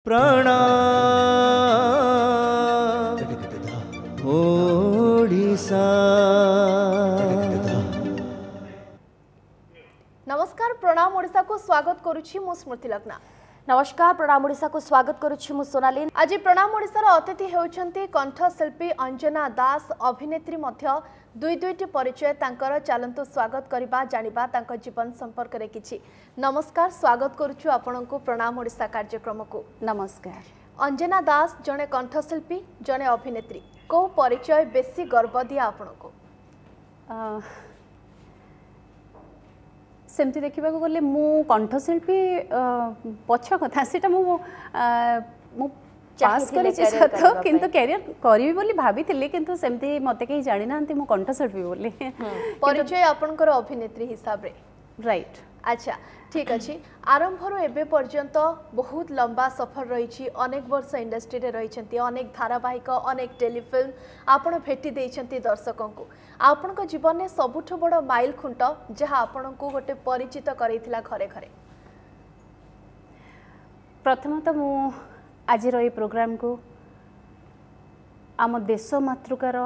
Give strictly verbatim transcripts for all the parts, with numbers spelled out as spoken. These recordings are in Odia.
ପ୍ରଣାମ ଓଡ଼ିଶା। ନମସ୍କାର, ପ୍ରଣାମ ଓଡ଼ିଶାକୁ ସ୍ୱାଗତ କରୁଛି ମୁଁ ସ୍ମୃତି ଲଗ୍ନା। ନମସ୍କାର, ପ୍ରଣାମ ଓଡ଼ିଶାକୁ ସ୍ୱାଗତ କରୁଛି ମୁଁ ସୋନାଲି। ଆଜି ପ୍ରଣାମ ଓଡ଼ିଶାର ଅତିଥି ହେଉଛନ୍ତି କଣ୍ଠଶିଳ୍ପୀ ଅଞ୍ଜନା ଦାସ, ଅଭିନେତ୍ରୀ ମଧ୍ୟ। ଦୁଇ ଦୁଇଟି ପରିଚୟ ତାଙ୍କର। ଚାଲନ୍ତୁ ସ୍ୱାଗତ କରିବା, ଜାଣିବା ତାଙ୍କ ଜୀବନ ସମ୍ପର୍କରେ କିଛି। ନମସ୍କାର, ସ୍ୱାଗତ କରୁଛୁ ଆପଣଙ୍କୁ ପ୍ରଣାମ ଓଡ଼ିଶା କାର୍ଯ୍ୟକ୍ରମକୁ। ନମସ୍କାର। ଅଞ୍ଜନା ଦାସ ଜଣେ କଣ୍ଠଶିଳ୍ପୀ, ଜଣେ ଅଭିନେତ୍ରୀ, କେଉଁ ପରିଚୟ ବେଶୀ ଗର୍ବ ଦିଏ ଆପଣଙ୍କୁ? ସେମିତି ଦେଖିବାକୁ ଗଲେ ମୁଁ କଣ୍ଠଶିଳ୍ପୀ ପଛ କଥା, ସେଇଟା ମୁଁ ମୁଁ ପାସ୍ କରିଛି ସତ, କିନ୍ତୁ କ୍ୟାରିୟର କରିବି ବୋଲି ଭାବିଥିଲି, କିନ୍ତୁ ସେମିତି ମୋତେ କେହି ଜାଣିନାହାନ୍ତି ମୁଁ କଣ୍ଠଶିଳ୍ପୀ ବୋଲି। ପରିଚୟ ଆପଣଙ୍କର ଅଭିନେତ୍ରୀ ହିସାବରେ। ରାଇଟ୍। ଆଚ୍ଛା, ଠିକ୍ ଅଛି। ଆରମ୍ଭରୁ ଏବେ ପର୍ଯ୍ୟନ୍ତ ବହୁତ ଲମ୍ବା ସଫର ରହିଛି, ଅନେକ ବର୍ଷ ଇଣ୍ଡଷ୍ଟ୍ରିରେ ରହିଛନ୍ତି, ଅନେକ ଧାରାବାହିକ, ଅନେକ ଟେଲିଫିଲ୍ମ ଆପଣ ଭେଟି ଦେଇଛନ୍ତି ଦର୍ଶକଙ୍କୁ। ଆପଣଙ୍କ ଜୀବନରେ ସବୁଠୁ ବଡ଼ ମାଇଲ ଖୁଣ୍ଟ, ଯାହା ଆପଣଙ୍କୁ ଗୋଟେ ପରିଚିତ କରାଇଥିଲା ଘରେ ଘରେ? ପ୍ରଥମତଃ ମୁଁ ଆଜିର ଏଇ ପ୍ରୋଗ୍ରାମକୁ ଆମ ଦେଶ ମାତୃକାର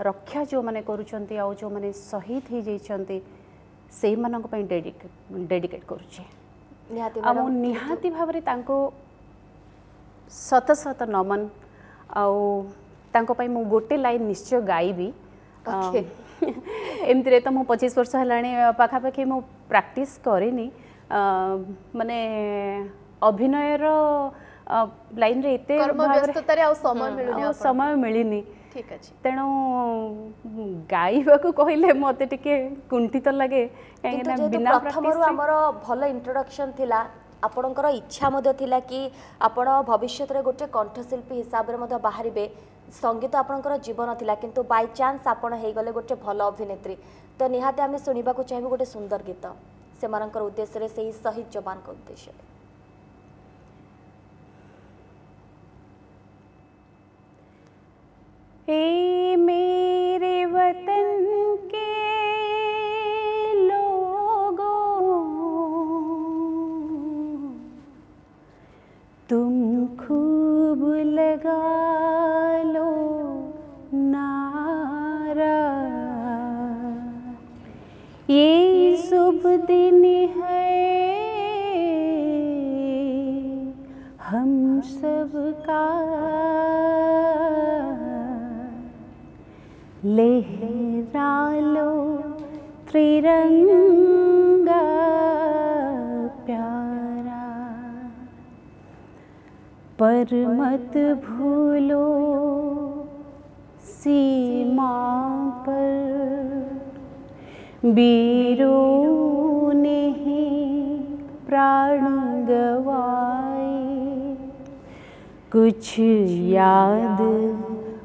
ରକ୍ଷା ଯେଉଁମାନେ କରୁଛନ୍ତି ଆଉ ଯେଉଁମାନେ ଶହୀଦ ହେଇଯାଇଛନ୍ତି, ସେଇମାନଙ୍କ ପାଇଁ ଡେଡିକେଟ୍ କରୁଛି। ଆଉ ମୁଁ ନିହାତି ଭାବରେ ତାଙ୍କୁ ଶତ ଶତ ନମନ, ଆଉ ତାଙ୍କ ପାଇଁ ମୁଁ ଗୋଟେ ଲାଇନ୍ ନିଶ୍ଚୟ ଗାଇବି। ଏମିତିରେ ତ ମୁଁ ପଚିଶ ବର୍ଷ ହେଲାଣି ପାଖାପାଖି ମୁଁ ପ୍ରାକ୍ଟିସ୍ କରିନି, ମାନେ ଅଭିନୟର ଲାଇନ୍ରେ ଏତେ ବ୍ୟସ୍ତତାରେ ଆଉ ସମୟ ମିଳୁନି, ସମୟ ମିଳିନି। ଠିକ୍ ଅଛି। ତେଣୁ ଗାଇବାକୁ କହିଲେ ମୋତେ ଟିକେ କୁଣ୍ଠିତ ଲାଗେ। କାହିଁକିନା ବିନା ପ୍ରଥମରୁ ଆମର ଭଲ ଇଣ୍ଟ୍ରୋଡକ୍ସନ୍ ଥିଲା, ଆପଣଙ୍କର ଇଚ୍ଛା ମଧ୍ୟ ଥିଲା କି ଆପଣ ଭବିଷ୍ୟତରେ ଗୋଟେ କଣ୍ଠଶିଳ୍ପୀ ହିସାବରେ ମଧ୍ୟ ବାହାରିବେ। ସଙ୍ଗୀତ ଆପଣଙ୍କର ଜୀବନ ଥିଲା, କିନ୍ତୁ ବାଇଚାନ୍ସ ଆପଣ ହେଇଗଲେ ଗୋଟେ ଭଲ ଅଭିନେତ୍ରୀ। ତ ନିହାତି ଆମେ ଶୁଣିବାକୁ ଚାହିଁବୁ ଗୋଟେ ସୁନ୍ଦର ଗୀତ ସେମାନଙ୍କର ଉଦ୍ଦେଶ୍ୟରେ, ସେଇ ଶହୀଦ ଯବାନଙ୍କ ଉଦ୍ଦେଶ୍ୟରେ। ए मेरे वतन के लोगों, तुम खूब लगा लो नारा, ये शुभ दिन है हम सबका, लहरा लो त्रिरंगा प्यारा, पर मत भूलो सीमा पर वीरों ने ही प्राण गवाए, कुछ याद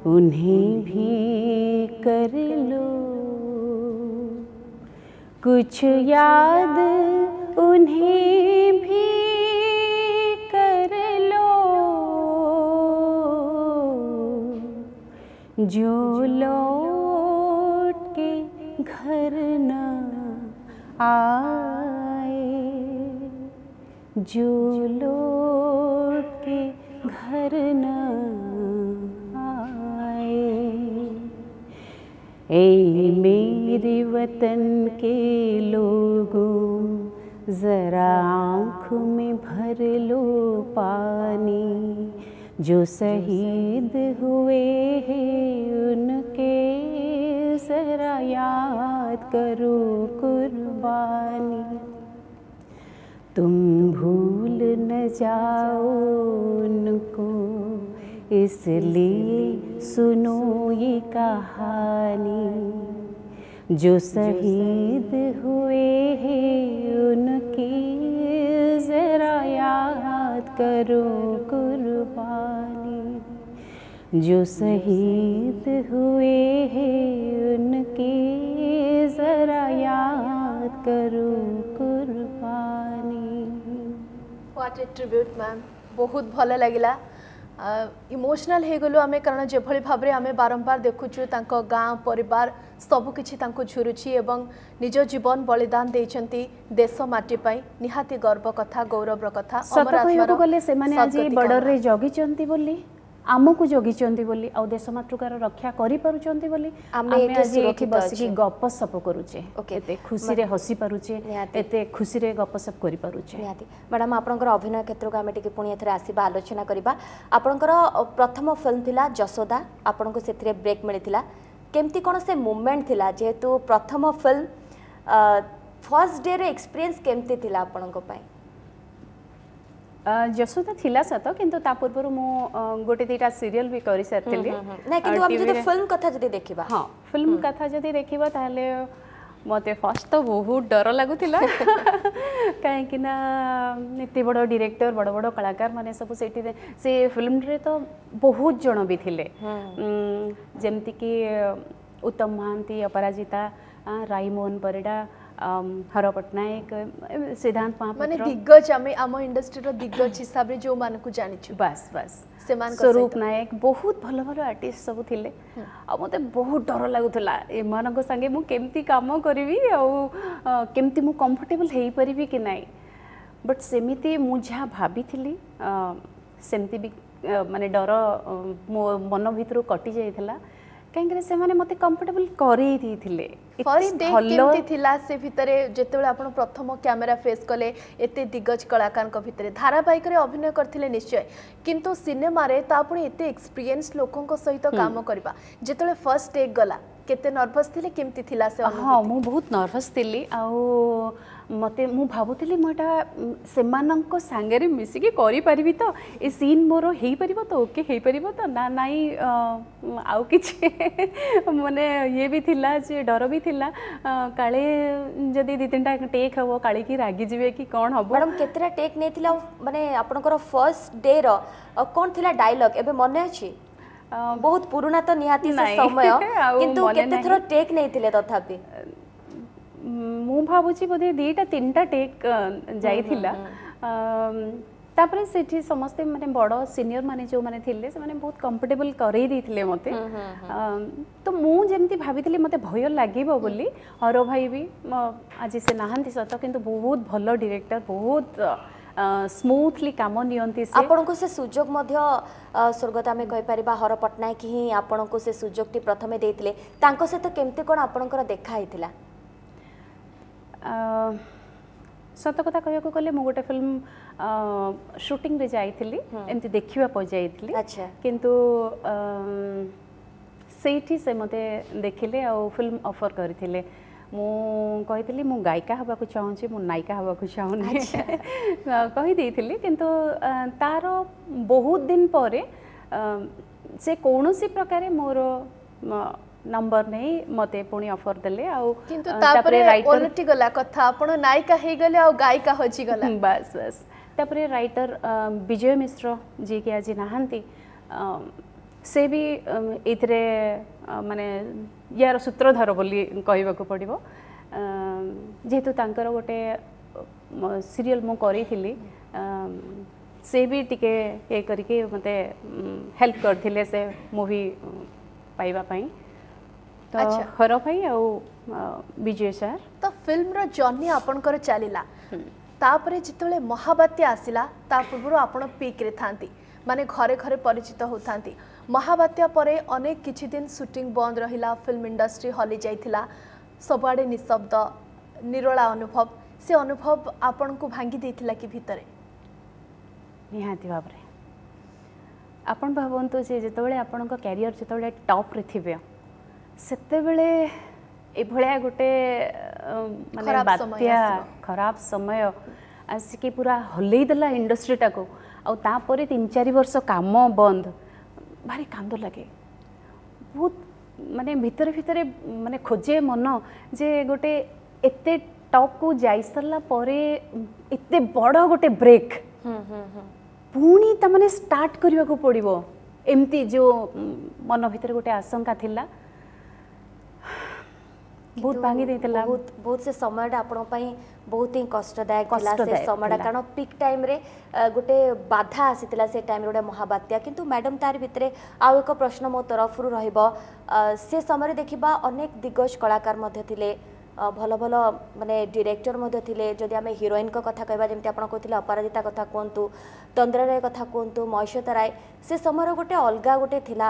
उन्हें भी कर लो, कुछ याद उन्हें भी कर लो, जो लौट के घर न आए, जो लौट के घर न आए। ए मेरे वतन के लोगों, ज़रा आँख में भर लो पानी, जो शहीद हुए हैं उनके ज़रा याद करो कुर्बानी, तुम भूल न जाओ उनको, इसलिए सुनो ये कहानी, जो शहीद हुए हैं उनकी ज़रा याद करो कुर्बानी, जो शहीद हुए हैं उनकी ज़रा याद करो कुर्बानी। What a tribute ma'am, ବହୁତ ଭଲ ଲାଗିଲା। ଇମୋସନାଲ ହେଇଗଲୁ ଆମେ, କାରଣ ଯେଭଳି ଭାବରେ ଆମେ ବାରମ୍ବାର ଦେଖୁଛୁ ତାଙ୍କ ଗାଁ ପରିବାର ସବୁକିଛି ତାଙ୍କୁ ଝୁରୁଛି ଏବଂ ନିଜ ଜୀବନ ବଳିଦାନ ଦେଇଛନ୍ତି ଦେଶ ମାଟି ପାଇଁ। ନିହାତି ଗର୍ବ କଥା, ଗୌରବର କଥା। ସତ କହିବାକୁ ଗଲେ ସେମାନେ ଆଜି ବର୍ଡରରେ ଜଗିଛନ୍ତି ବୋଲି, ଆମକୁ ଜଗିଛନ୍ତି ବୋଲି, ଆଉ ଦେଶ ମାତୃକାର ରକ୍ଷା କରିପାରୁଛନ୍ତି ବୋଲି ଆମେ ଆଜି ଏଠି ବସିକି ଗପସପ କରୁଛେ, ଏତେ ଖୁସିରେ ହସି ପାରୁଛେ, ଏତେ ଖୁସିରେ ଗପସପ କରିପାରୁଛେ। ନିହାତି ମ୍ୟାଡ଼ାମ୍, ଆପଣଙ୍କର ଅଭିନୟ କ୍ଷେତ୍ରକୁ ଆମେ ଟିକେ ପୁଣି ଏଥର ଆସିବା, ଆଲୋଚନା କରିବା। ଆପଣଙ୍କର ପ୍ରଥମ ଫିଲ୍ମ ଥିଲା ଯଶୋଦା, ଆପଣଙ୍କୁ ସେଥିରେ ବ୍ରେକ୍ ମିଳିଥିଲା। କେମିତି କ'ଣ ସେ ମୁଭମେଣ୍ଟ ଥିଲା, ଯେହେତୁ ପ୍ରଥମ ଫିଲ୍ମ, ଫର୍ଷ୍ଟ ଡେର ଏକ୍ସପିରିଏନ୍ସ କେମିତି ଥିଲା ଆପଣଙ୍କ ପାଇଁ? ଯଶୋଦା ଥିଲା ସତ, କିନ୍ତୁ ତା ପୂର୍ବରୁ ମୁଁ ଗୋଟେ ଦୁଇଟା ସିରିଏଲ ବି କରିସାରିଥିଲି। ନାଇଁ, କିନ୍ତୁ ଆମେ ଯଦି ଫିଲ୍ମ କଥା ଯଦି ଦେଖିବା? ହଁ, ଫିଲ୍ମ କଥା ଯଦି ଦେଖିବା ତାହେଲେ ମୋତେ ଫାର୍ଷ୍ଟ ତ ବହୁତ ଡର ଲାଗୁଥିଲା, କାହିଁକି ନା ଏତେ ବଡ଼ ଡିରେକ୍ଟର, ବଡ଼ ବଡ଼ କଳାକାର ମାନେ ସବୁ ସେଇଠି। ସେ ଫିଲ୍ମରେ ତ ବହୁତ ଜଣ ବି ଥିଲେ, ଯେମିତିକି ଉତ୍ତମ ମହାନ୍ତି, ଅପରାଜିତା, ରାଇମୋହନ ପରିଡ଼ା, ହର ପଟ୍ଟନାୟକ, ସିଦ୍ଧାନ୍ତ ମହାପାତ୍ର, ମାନେ ଦିଗ୍ଗଜ, ଆମେ ଆମ ଇଣ୍ଡଷ୍ଟ୍ରିର ଦିଗ୍ଗଜ ହିସାବରେ ଯେଉଁମାନଙ୍କୁ ଜାଣିଛୁ। ବାସ୍ ବାସ୍, ସେମାନେ ସ୍ୱରୂପ ନାୟକ, ବହୁତ ଭଲ ଭଲ ଆର୍ଟିଷ୍ଟ ସବୁ ଥିଲେ। ଆଉ ମୋତେ ବହୁତ ଡର ଲାଗୁଥିଲା ଏମାନଙ୍କ ସାଙ୍ଗେ ମୁଁ କେମିତି କାମ କରିବି ଆଉ କେମିତି ମୁଁ କମ୍ଫର୍ଟେବଲ୍ ହେଇପାରିବି କି ନାହିଁ। ବଟ୍ ସେମିତି ମୁଁ ଯାହା ଭାବିଥିଲି ସେମିତି ବି ମାନେ ଡର ମୋ ମନ ଭିତରୁ କଟି ଯାଇଥିଲା, କାହିଁକିନା ସେମାନେ ମୋତେ କମ୍ଫର୍ଟେବଲ୍ କରେଇ ଦେଇଥିଲେ। ଫର୍ଷ୍ଟ ଡେ କେମିତି ଥିଲା ସେ ଭିତରେ, ଯେତେବେଳେ ଆପଣ ପ୍ରଥମ କ୍ୟାମେରା ଫେସ୍ କଲେ ଏତେ ଦିଗ୍ଗଜ କଳାକାରଙ୍କ ଭିତରେ? ଧାରାବାହିକରେ ଅଭିନୟ କରିଥିଲେ ନିଶ୍ଚୟ, କିନ୍ତୁ ସିନେମାରେ ତା ପୁଣି ଏତେ ଏକ୍ସପିରିଏନ୍ସ ଲୋକଙ୍କ ସହିତ କାମ କରିବା, ଯେତେବେଳେ ଫର୍ଷ୍ଟ ଟେକ୍ ଗଲା କେତେ ନର୍ଭସ୍ ଥିଲେ, କେମିତି ଥିଲା ସେ? ହଁ, ମୁଁ ବହୁତ ନର୍ଭସ୍ ଥିଲି ଆଉ ମୋତେ ମୁଁ ଭାବୁଥିଲି ମୁଁ ଏଇଟା ସେମାନଙ୍କ ସାଙ୍ଗରେ ମିଶିକି କରିପାରିବି ତ, ଏ ସିନ୍ ମୋର ହେଇପାରିବ ତ, ଓକେ ହେଇପାରିବ ତ ନା ନାଇଁ, ଆଉ କିଛି ମାନେ ଇଏ ବି ଥିଲା ଯେ ଡର ବି ଥିଲା, କାଳେ ଯଦି ଦୁଇ ତିନିଟା ଟେକ୍ ହେବ କାଳେ କି ରାଗିଯିବେ କି କ'ଣ ହେବ। ମ୍ୟାଡ଼ାମ୍, କେତେଟା ଟେକ୍ ନେଇଥିଲେ ଆଉ ମାନେ ଆପଣଙ୍କର ଫର୍ଷ୍ଟ ଡେର କ'ଣ ଥିଲା ଡାଇଲଗ୍ ଏବେ ମନେ ଅଛି? ବହୁତ ପୁରୁଣା ତ ନିହାତି ସେ ସମୟ, କିନ୍ତୁ କେତେ ଥର ଟେକ୍ ନେଇଥିଲେ ତଥାପି? ମୁଁ ଭାବୁଛି ବୋଧେ ଦୁଇଟା ତିନିଟା ଟେକ୍ ଯାଇଥିଲା। ତାପରେ ସେଠି ସମସ୍ତେ ମାନେ ବଡ଼ ସିନିୟର ମାନେ ଯେଉଁମାନେ ଥିଲେ ସେମାନେ ବହୁତ କମ୍ଫର୍ଟେବଲ୍ କରେଇ ଦେଇଥିଲେ ମୋତେ। ତ ମୁଁ ଯେମିତି ଭାବିଥିଲି ମୋତେ ଭୟ ଲାଗିବ ବୋଲି, ହର ଭାଇ ବି ଆଜି ସେ ନାହାନ୍ତି ସତ, କିନ୍ତୁ ବହୁତ ଭଲ ଡିରେକ୍ଟର, ବହୁତ ସ୍ମୁଥଲି କାମ ନିଅନ୍ତି। ଆପଣଙ୍କୁ ସେ ସୁଯୋଗ ମଧ୍ୟ ସ୍ୱର୍ଗତ ଆମେ କହିପାରିବା ହର ପଟ୍ଟନାୟକ ହିଁ ଆପଣଙ୍କୁ ସେ ସୁଯୋଗଟି ପ୍ରଥମେ ଦେଇଥିଲେ। ତାଙ୍କ ସହିତ କେମିତି କ'ଣ ଆପଣଙ୍କର ଦେଖା ହେଇଥିଲା? ସତ କଥା କହିବାକୁ ଗଲେ ମୁଁ ଗୋଟେ ଫିଲ୍ମ ସୁଟିଂରେ ଯାଇଥିଲି, ଏମିତି ଦେଖିବା ପାଇଁ ଯାଇଥିଲି, କିନ୍ତୁ ସେଇଠି ସେ ମୋତେ ଦେଖିଲେ ଆଉ ଫିଲ୍ମ ଅଫର୍ କରିଥିଲେ। ମୁଁ କହିଥିଲି ମୁଁ ଗାୟିକା ହେବାକୁ ଚାହୁଁଛି, ମୁଁ ନାୟିକା ହେବାକୁ ଚାହୁଁନି କହିଦେଇଥିଲି। କିନ୍ତୁ ତାର ବହୁତ ଦିନ ପରେ ସେ କୌଣସି ପ୍ରକାରେ ମୋର ନମ୍ବର ନେଇ ମୋତେ ପୁଣି ଅଫର୍ ଦେଲେ। ଆଉ କିନ୍ତୁ ତାପରେ ଓଲଟି ଗଲା କଥା, ଆପଣ ନାୟିକା ହେଇଗଲେ ଆଉ ଗାୟିକା ହଜିଗଲା। ବାସ୍ ବାସ୍। ତାପରେ ରାଇଟର ବିଜୟ ମିଶ୍ର, ଯିଏକି ଆଜି ନାହାନ୍ତି, ସେ ବି ଏଇଥିରେ ମାନେ ୟାର ସୂତ୍ରଧର ବୋଲି କହିବାକୁ ପଡ଼ିବ, ଯେହେତୁ ତାଙ୍କର ଗୋଟେ ସିରିଏଲ୍ ମୁଁ କରିଥିଲି, ସେ ବି ଟିକେ ଇଏ କରିକି ମୋତେ ହେଲ୍ପ କରିଥିଲେ ସେ ମୁଭି ପାଇବା ପାଇଁ। ତ ହର ଭାଇ ଆଉ ବିଜୟ ସାର୍। ତ ଫିଲ୍ମର ଜର୍ଣ୍ଣି ଆପଣଙ୍କର ଚାଲିଲା, ତାପରେ ଯେତେବେଳେ ମହାବାତ୍ୟା ଆସିଲା, ତା ପୂର୍ବରୁ ଆପଣ ପିକ୍ରେ ଥାନ୍ତି, ମାନେ ଘରେ ଘରେ ପରିଚିତ ହେଉଥାନ୍ତି। ମହାବାତ୍ୟା ପରେ ଅନେକ କିଛି ଦିନ ସୁଟିଂ ବନ୍ଦ ରହିଲା, ଫିଲ୍ମ ଇଣ୍ଡଷ୍ଟ୍ରି ହଲି ଯାଇଥିଲା, ସବୁଆଡ଼େ ନିଶବ୍ଦ ନିରୋଳା ଅନୁଭବ। ସେ ଅନୁଭବ ଆପଣଙ୍କୁ ଭାଙ୍ଗି ଦେଇଥିଲା କି ଭିତରେ? ନିହାତି ଭାବରେ। ଆପଣ ଭାବନ୍ତୁ ଯେ ଯେତେବେଳେ ଆପଣଙ୍କ କ୍ୟାରିୟର ଯେତେବେଳେ ଟପ୍ରେ ଥିବେ, ସେତେବେଳେ ଏଭଳିଆ ଗୋଟେ ମାନେ ବାତ୍ୟା, ଖରାପ ସମୟ ଆସିକି ପୁରା ହଲେଇ ଦେଲା ଇଣ୍ଡଷ୍ଟ୍ରିଟାକୁ, ଆଉ ତାପରେ ତିନି ଚାରି ବର୍ଷ କାମ ବନ୍ଦ, ଭାରି କାନ୍ଦ ଲାଗେ ବହୁତ। ମାନେ ଭିତରେ ଭିତରେ ମାନେ ଖୋଜେ ମନ ଯେ ଗୋଟେ ଏତେ ଟପ୍କୁ ଯାଇସାରିଲା ପରେ ଏତେ ବଡ଼ ଗୋଟେ ବ୍ରେକ୍ ପୁଣି ତାମାନେ ଷ୍ଟାର୍ଟ କରିବାକୁ ପଡ଼ିବ, ଏମିତି ଯେଉଁ ମନ ଭିତରେ ଗୋଟେ ଆଶଙ୍କା ଥିଲା। ବହୁତ ଭାଙ୍ଗି ଦେଇଥିଲା। ବହୁତ ବହୁତ ସେ ସମୟଟା ଆପଣଙ୍କ ପାଇଁ ବହୁତ ହିଁ କଷ୍ଟଦାୟକ ଥିଲା ସେ ସମୟଟା, କାରଣ ପିକ୍ ଟାଇମ୍ରେ ଗୋଟେ ବାଧା ଆସିଥିଲା ସେ ଟାଇମ୍ରେ, ଗୋଟେ ମହାବାତ୍ୟା। କିନ୍ତୁ ମ୍ୟାଡ଼ାମ୍, ତାର ଭିତରେ ଆଉ ଏକ ପ୍ରଶ୍ନ ମୋ ତରଫରୁ ରହିବ। ସେ ସମୟରେ ଦେଖିବା ଅନେକ ଦିଗ୍ଗଜ କଳାକାର ମଧ୍ୟ ଥିଲେ, ଭଲ ଭଲ ମାନେ ଡିରେକ୍ଟର ମଧ୍ୟ ଥିଲେ। ଯଦି ଆମେ ହିରୋଇନଙ୍କ କଥା କହିବା, ଯେମିତି ଆପଣ କହୁଥିଲେ ଅପରାଜିତା କଥା କୁହନ୍ତୁ, ତନ୍ଦ୍ରା ରାୟ କଥା କୁହନ୍ତୁ, ମହେଶ୍ୱତା ରାୟ, ସେ ସମୟର ଗୋଟେ ଅଲଗା ଗୋଟେ ଥିଲା,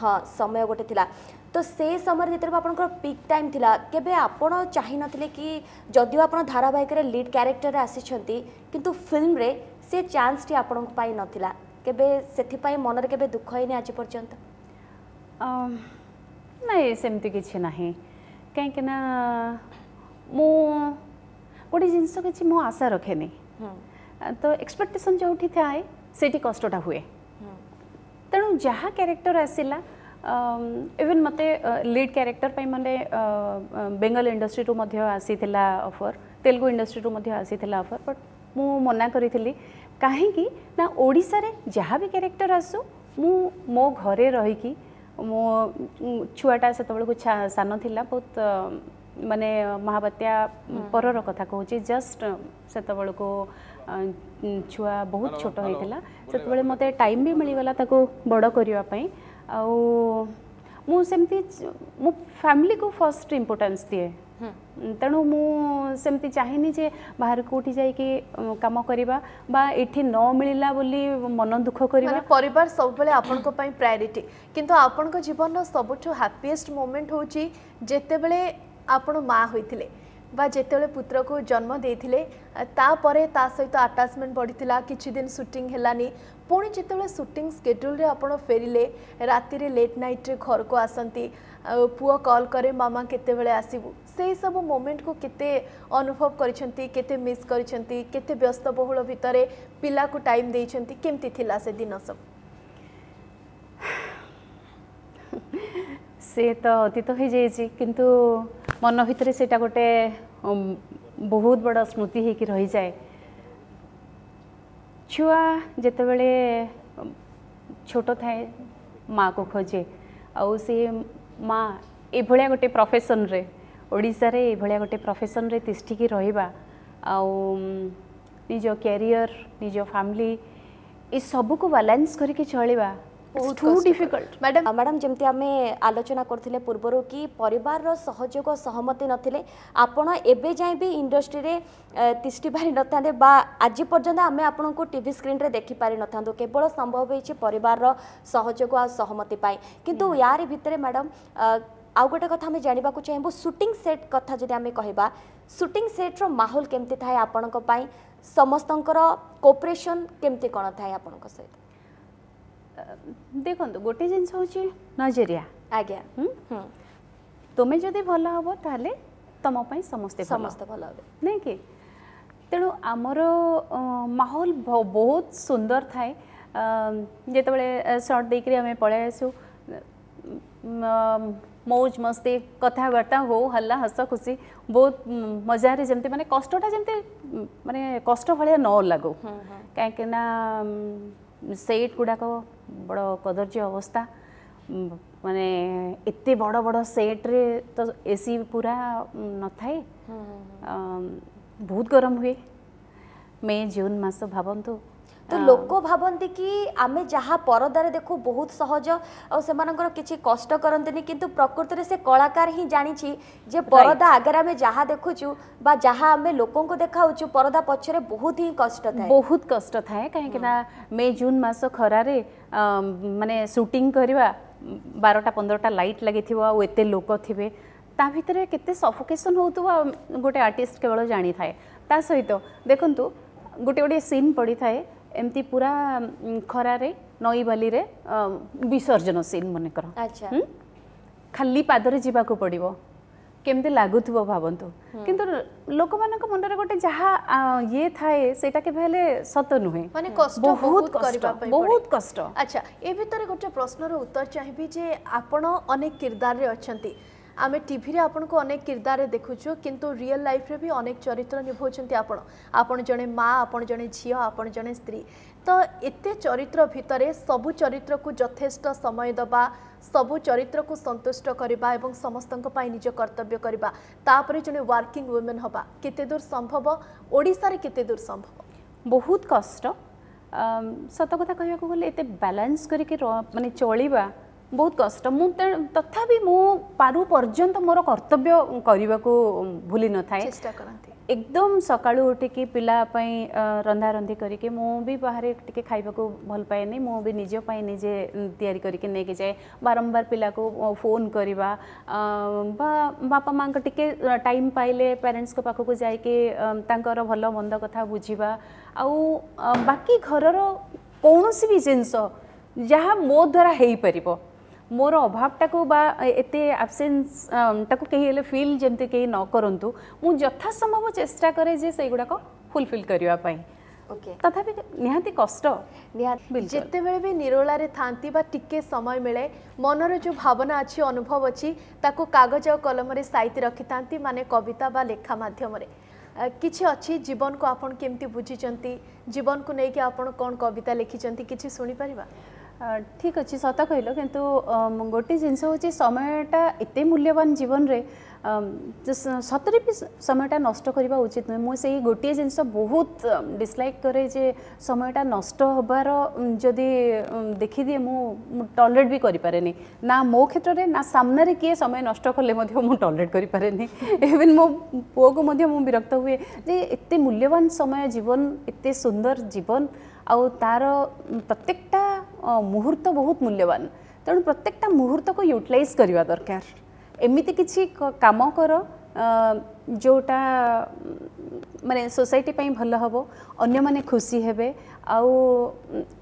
ହଁ, ସମୟ ଗୋଟେ ଥିଲା। ତ ସେ ସମୟରେ ଯେତେବେଳେ ଆପଣଙ୍କର ପିକ୍ ଟାଇମ୍ ଥିଲା, କେବେ ଆପଣ ଚାହିଁନଥିଲେ କି ଯଦିଓ ଆପଣ ଧାରାବାହିକରେ ଲିଡ୍ କ୍ୟାରେକ୍ଟରରେ ଆସିଛନ୍ତି, କିନ୍ତୁ ଫିଲ୍ମରେ ସେ ଚାନ୍ସଟି ଆପଣଙ୍କ ପାଇଁ ନଥିଲା? କେବେ ସେଥିପାଇଁ ମନରେ କେବେ ଦୁଃଖ ହେଇନି ଆଜି ପର୍ଯ୍ୟନ୍ତ? ନାଇଁ, ସେମିତି କିଛି ନାହିଁ, କାହିଁକିନା ମୁଁ ଗୋଟେ ଜିନିଷ କିଛି ମୁଁ ଆଶା ରଖେନି। ତ ଏକ୍ସପେକ୍ଟେସନ୍ ଯେଉଁଠି ଥାଏ ସେଇଠି କଷ୍ଟଟା ହୁଏ। ତେଣୁ ଯାହା କ୍ୟାରେକ୍ଟର ଆସିଲା, ଇଭେନ୍ ମୋତେ ଲିଡ୍ କ୍ୟାରେକ୍ଟର ପାଇଁ ମାନେ ବେଙ୍ଗଲ ଇଣ୍ଡଷ୍ଟ୍ରିରୁ ମଧ୍ୟ ଆସିଥିଲା ଅଫର୍, ତେଲୁଗୁ ଇଣ୍ଡଷ୍ଟ୍ରିରୁ ମଧ୍ୟ ଆସିଥିଲା ଅଫର୍, ବଟ୍ ମୁଁ ମନା କରିଥିଲି। କାହିଁକି ନା ଓଡ଼ିଶାରେ ଯାହା ବି କ୍ୟାରେକ୍ଟର ଆସୁ, ମୁଁ ମୋ ଘରେ ରହିକି, ମୋ ଛୁଆଟା ସେତେବେଳକୁ ସାନ ଥିଲା ବହୁତ, ମାନେ ମହାବାତ୍ୟା ପରର କଥା କହୁଛି, ଜଷ୍ଟ ସେତେବେଳକୁ ଛୁଆ ବହୁତ ଛୋଟ ହେଇଥିଲା। ସେତେବେଳେ ମୋତେ ଟାଇମ୍ ବି ମିଳିଗଲା ତାକୁ ବଡ଼ କରିବା ପାଇଁ। ଆଉ ମୁଁ ସେମିତି ମୁଁ ଫ୍ୟାମିଲିକୁ ଫାର୍ଷ୍ଟ ଇମ୍ପୋର୍ଟାନ୍ସ ଦିଏ, ତେଣୁ ମୁଁ ସେମିତି ଚାହେଁନି ଯେ ବାହାରେ କେଉଁଠି ଯାଇକି କାମ କରିବା ବା ଏଠି ନ ମିଳିଲା ବୋଲି ମନ ଦୁଃଖ କରିବା। ପରିବାର ସବୁବେଳେ ଆପଣଙ୍କ ପାଇଁ ପ୍ରାୟୋରିଟି। କିନ୍ତୁ ଆପଣଙ୍କ ଜୀବନର ସବୁଠୁ ହ୍ୟାପିଏଷ୍ଟ ମୋମେଣ୍ଟ ହେଉଛି ଯେତେବେଳେ ଆପଣ ମା ହୋଇଥିଲେ ବା ଯେତେବେଳେ ପୁତ୍ରକୁ ଜନ୍ମ ଦେଇଥିଲେ, ତାପରେ ତା ସହିତ ଆଟାଚମେଣ୍ଟ ବଢ଼ିଥିଲା। କିଛି ଦିନ ସୁଟିଂ ହେଲାନି, ପୁଣି ଯେତେବେଳେ ସୁଟିଂ ସ୍କେଡ୍ୟୁଲ୍ରେ ଆପଣ ଫେରିଲେ, ରାତିରେ ଲେଟ୍ ନାଇଟ୍ରେ ଘରକୁ ଆସନ୍ତି, ପୁଅ କଲ୍ କରେ ମାମା କେତେବେଳେ ଆସିବୁ, ସେଇ ସବୁ ମୋମେଣ୍ଟକୁ କେତେ ଅନୁଭବ କରିଛନ୍ତି, କେତେ ମିସ୍ କରିଛନ୍ତି, କେତେ ବ୍ୟସ୍ତବହୁଳ ଭିତରେ ପିଲାକୁ ଟାଇମ୍ ଦେଇଛନ୍ତି, କେମିତି ଥିଲା ସେ ଦିନ ସବୁ? ସେ ତ ଅତୀତ ହେଇଯାଇଛି, କିନ୍ତୁ ମନ ଭିତରେ ସେଇଟା ଗୋଟେ ବହୁତ ବଡ଼ ସ୍ମୃତି ହେଇକି ରହିଯାଏ। ଛୁଆ ଯେତେବେଳେ ଛୋଟ ଥାଏ ମାଆକୁ ଖୋଜେ, ଆଉ ସେ ମା ଏଭଳିଆ ଗୋଟେ ପ୍ରଫେସନରେ, ଓଡ଼ିଶାରେ ଏଭଳିଆ ଗୋଟେ ପ୍ରଫେସନରେ ତିଷ୍ଠିକି ରହିବା ଆଉ ନିଜ କ୍ୟାରିୟର, ନିଜ ଫ୍ୟାମିଲି, ଏସବୁକୁ ବାଲାନ୍ସ କରିକି ଚଳିବା ଟୁ ଡିଫିକଲ୍ଟ। ମ୍ୟାଡ଼ାମ୍, ମ୍ୟାଡ଼ାମ୍, ଯେମିତି ଆମେ ଆଲୋଚନା କରୁଥିଲେ ପୂର୍ବରୁ କି ପରିବାରର ସହଯୋଗ ସହମତି ନଥିଲେ ଆପଣ ଏବେ ଯାଏଁ ବି ଇଣ୍ଡଷ୍ଟ୍ରିରେ ତିଷ୍ଠି ପାରିନଥାନ୍ତେ ବା ଆଜି ପର୍ଯ୍ୟନ୍ତ ଆମେ ଆପଣଙ୍କୁ ଟିଭି ସ୍କ୍ରିନ୍ରେ ଦେଖିପାରିନଥାନ୍ତୁ। କେବଳ ସମ୍ଭବ ହେଇଛି ପରିବାରର ସହଯୋଗ ଆଉ ସହମତି ପାଇଁ। କିନ୍ତୁ ୟାରି ଭିତରେ ମ୍ୟାଡ଼ାମ୍ ଆଉ ଗୋଟେ କଥା ଆମେ ଜାଣିବାକୁ ଚାହିଁବୁ, ସୁଟିଂ ସେଟ୍ କଥା ଯଦି ଆମେ କହିବା, ସୁଟିଂ ସେଟ୍ର ମାହୋଲ କେମିତି ଥାଏ ଆପଣଙ୍କ ପାଇଁ, ସମସ୍ତଙ୍କର କୋଅପରେସନ୍ କେମିତି କ'ଣ ଥାଏ ଆପଣଙ୍କ ସହିତ? ଦେଖନ୍ତୁ, ଗୋଟେ ଜିନିଷ ହେଉଛି ନଜରିଆ। ଆଜ୍ଞା। ତୁମେ ଯଦି ଭଲ ହେବ ତାହେଲେ ତୁମ ପାଇଁ ସମସ୍ତେ ସମସ୍ତେ ଭଲ ହେବେ, ନାଇଁ କି? ତେଣୁ ଆମର ମାହୋଲ ବହୁତ ସୁନ୍ଦର ଥାଏ। ଯେତେବେଳେ ସର୍ଟ ଦେଇକରି ଆମେ ପଳେଇ ଆସୁ, ମୌଜ ମସ୍ତି, କଥାବାର୍ତ୍ତା ହଉ, ହଲ୍ଲା, ହସ ଖୁସି, ବହୁତ ମଜାରେ, ଯେମିତି ମାନେ କଷ୍ଟଟା ଯେମିତି ମାନେ କଷ୍ଟ ଭଳିଆ ନ ଲାଗୁ। କାହିଁକିନା ସେଟ୍ ଗୁଡ଼ାକ ବଡ଼ କଦର୍ଯ୍ୟ ଅବସ୍ଥା, ମାନେ ଏତେ ବଡ଼ ବଡ଼ ସେଟ୍ରେ ତ ଏସି ପୁରା ନଥାଏ, ବହୁତ ଗରମ ହୁଏ ମେ ଜୁନ୍ ମାସ ଭାବନ୍ତୁ। ତ ଲୋକ ଭାବନ୍ତି କି ଆମେ ଯାହା ପରଦାରେ ଦେଖୁ ବହୁତ ସହଜ ଆଉ ସେମାନଙ୍କର କିଛି କଷ୍ଟ କରନ୍ତିନି, କିନ୍ତୁ ପ୍ରକୃତରେ ସେ କଳାକାର ହିଁ ଜାଣିଛି ଯେ ପରଦା ଆଗରେ ଆମେ ଯାହା ଦେଖୁଛୁ ବା ଯାହା ଆମେ ଲୋକଙ୍କୁ ଦେଖାଉଛୁ, ପରଦା ପଛରେ ବହୁତ ହିଁ କଷ୍ଟ ଥାଏ, ବହୁତ କଷ୍ଟ ଥାଏ। କାହିଁକି ନା ମେ ଜୁନ୍ ମାସ ଖରାରେ ମାନେ ସୁଟିଂ କରିବା, ବାରଟା ପନ୍ଦରଟା ଲାଇଟ୍ ଲାଗିଥିବ ଆଉ ଏତେ ଲୋକ ଥିବେ, ତା ଭିତରେ କେତେ ସଫୋକେସନ୍ ହେଉଥିବ ଗୋଟେ ଆର୍ଟିଷ୍ଟ କେବଳ ଜାଣିଥାଏ। ତା ସହିତ ଦେଖନ୍ତୁ ଗୋଟେ ଗୋଟେ ସିନ୍ ପଡ଼ିଥାଏ ଏମିତି ପୁରା ଖରାରେ ନଈ ବାଲିରେ ବିସର୍ଜନ ସିନ୍ ମନେକର, ଖାଲି ପାଦରେ ଯିବାକୁ ପଡ଼ିବ, କେମିତି ଲାଗୁଥିବ ଭାବନ୍ତୁ। କିନ୍ତୁ ଲୋକମାନଙ୍କ ମନରେ ଗୋଟେ ଯାହା ଇଏ ଥାଏ ସେଇଟା କେବେ ହେଲେ ସତ ନୁହେଁ, ମାନେ କଷ୍ଟ ବହୁତ କଷ୍ଟ, ବହୁତ କଷ୍ଟ। ଆଚ୍ଛା, ଏ ଭିତରେ ଗୋଟେ ପ୍ରଶ୍ନର ଉତ୍ତର ଚାହିଁବି ଯେ ଆପଣ ଅନେକ କିରଦାରରେ ଅଛନ୍ତି, ଆମେ ଟିଭିରେ ଆପଣଙ୍କୁ ଅନେକ କିରଦାରରେ ଦେଖୁଛୁ, କିନ୍ତୁ ରିଅଲ ଲାଇଫ୍ରେ ବି ଅନେକ ଚରିତ୍ର ନିଭାଉଛନ୍ତି ଆପଣ। ଆପଣ ଜଣେ ମା, ଆପଣ ଜଣେ ଝିଅ, ଆପଣ ଜଣେ ସ୍ତ୍ରୀ। ତ ଏତେ ଚରିତ୍ର ଭିତରେ ସବୁ ଚରିତ୍ରକୁ ଯଥେଷ୍ଟ ସମୟ ଦେବା, ସବୁ ଚରିତ୍ରକୁ ସନ୍ତୁଷ୍ଟ କରିବା ଏବଂ ସମସ୍ତଙ୍କ ପାଇଁ ନିଜ କର୍ତ୍ତବ୍ୟ କରିବା, ତାପରେ ଜଣେ ୱାର୍କିଂ ୱିମେନ୍ ହେବା କେତେ ଦୂର ସମ୍ଭବ? ଓଡ଼ିଶାରେ କେତେ ଦୂର ସମ୍ଭବ? ବହୁତ କଷ୍ଟ। ସତ କଥା କହିବାକୁ ଗଲେ ଏତେ ବାଲାନ୍ସ କରିକି ମାନେ ଚଳିବା ବହୁତ କଷ୍ଟ। ମୁଁ ତଥାପି ମୁଁ ପାରୁ ପର୍ଯ୍ୟନ୍ତ ମୋର କର୍ତ୍ତବ୍ୟ କରିବାକୁ ଭୁଲି ନଥାଏ। ଚେଷ୍ଟା କରନ୍ତି। ଏକଦମ ସକାଳୁ ଉଠିକି ପିଲା ପାଇଁ ରନ୍ଧାରନ୍ଧି କରିକି, ମୁଁ ବି ବାହାରେ ଟିକେ ଖାଇବାକୁ ଭଲ ପାଏନି, ମୁଁ ବି ନିଜ ପାଇଁ ନିଜେ ତିଆରି କରିକି ନେଇକି ଯାଏ। ବାରମ୍ବାର ପିଲାକୁ ଫୋନ୍ କରିବା ବା ବାପା ମାଆଙ୍କ ଟିକେ ଟାଇମ୍ ପାଇଲେ ପ୍ୟାରେଣ୍ଟସ୍ଙ୍କ ପାଖକୁ ଯାଇକି ତାଙ୍କର ଭଲ ମନ୍ଦ କଥା ବୁଝିବା, ଆଉ ବାକି ଘରର କୌଣସି ବି ଜିନିଷ ଯାହା ମୋ ଦ୍ୱାରା ହେଇପାରିବ, ମୋର ଅଭାବଟାକୁ ବା ଏତେ ଆବସେନ୍ସଟାକୁ କେହି ହେଲେ ଫିଲ୍ ଯେମିତି କେହି ନ କରନ୍ତୁ, ମୁଁ ଯଥାସମ୍ଭବ ଚେଷ୍ଟା କରେ ଯେ ସେଇଗୁଡ଼ାକ ଫୁଲଫିଲ୍ କରିବା ପାଇଁ। ତଥାପି ନିହାତି କଷ୍ଟ। ଯେତେବେଳେ ବି ନିରୋଳାରେ ଥାନ୍ତି ବା ଟିକେ ସମୟ ମିଳେ, ମନର ଯେଉଁ ଭାବନା ଅଛି, ଅନୁଭବ ଅଛି, ତାକୁ କାଗଜ ଆଉ କଲମରେ ସାଇତି ରଖିଥାନ୍ତି, ମାନେ କବିତା ବା ଲେଖା ମାଧ୍ୟମରେ। କିଛି ଅଛି ଜୀବନକୁ ଆପଣ କେମିତି ବୁଝିଛନ୍ତି, ଜୀବନକୁ ନେଇକି ଆପଣ କ'ଣ କବିତା ଲେଖିଛନ୍ତି, କିଛି ଶୁଣିପାରିବା? ଠିକ୍ ଅଛି, ସତ କହିଲ। କିନ୍ତୁ ଗୋଟେ ଜିନିଷ ହେଉଛି ସମୟଟା ଏତେ ମୂଲ୍ୟବାନ ଜୀବନରେ, ସତରେ ବି ସମୟଟା ନଷ୍ଟ କରିବା ଉଚିତ ନୁହେଁ। ମୁଁ ସେଇ ଗୋଟିଏ ଜିନିଷ ବହୁତ ଡିସଲାଇକ୍ କରେ ଯେ ସମୟଟା ନଷ୍ଟ ହେବାର ଯଦି ଦେଖିଦିଏ ମୁଁ ଟଲରେଟ୍ ବି କରିପାରେନି, ନା ମୋ କ୍ଷେତ୍ରରେ ନା ସାମ୍ନାରେ କିଏ ସମୟ ନଷ୍ଟ କଲେ ମଧ୍ୟ ମୁଁ ଟଲରେଟ୍ କରିପାରେନି। ଇଭେନ୍ ମୋ ପୁଅକୁ ମଧ୍ୟ ମୁଁ ବିରକ୍ତ ହୁଏ ଯେ ଏତେ ମୂଲ୍ୟବାନ ସମୟ ଜୀବନ, ଏତେ ସୁନ୍ଦର ଜୀବନ, ଆଉ ତାର ପ୍ରତ୍ୟେକଟା ମୁହୂର୍ତ୍ତ ବହୁତ ମୂଲ୍ୟବାନ। ତେଣୁ ପ୍ରତ୍ୟେକଟା ମୁହୂର୍ତ୍ତକୁ ୟୁଟିଲାଇଜ୍ କରିବା ଦରକାର। ଏମିତି କିଛି କାମ କର ଯେଉଁଟା ମାନେ ସୋସାଇଟି ପାଇଁ ଭଲ ହେବ, ଅନ୍ୟମାନେ ଖୁସି ହେବେ, ଆଉ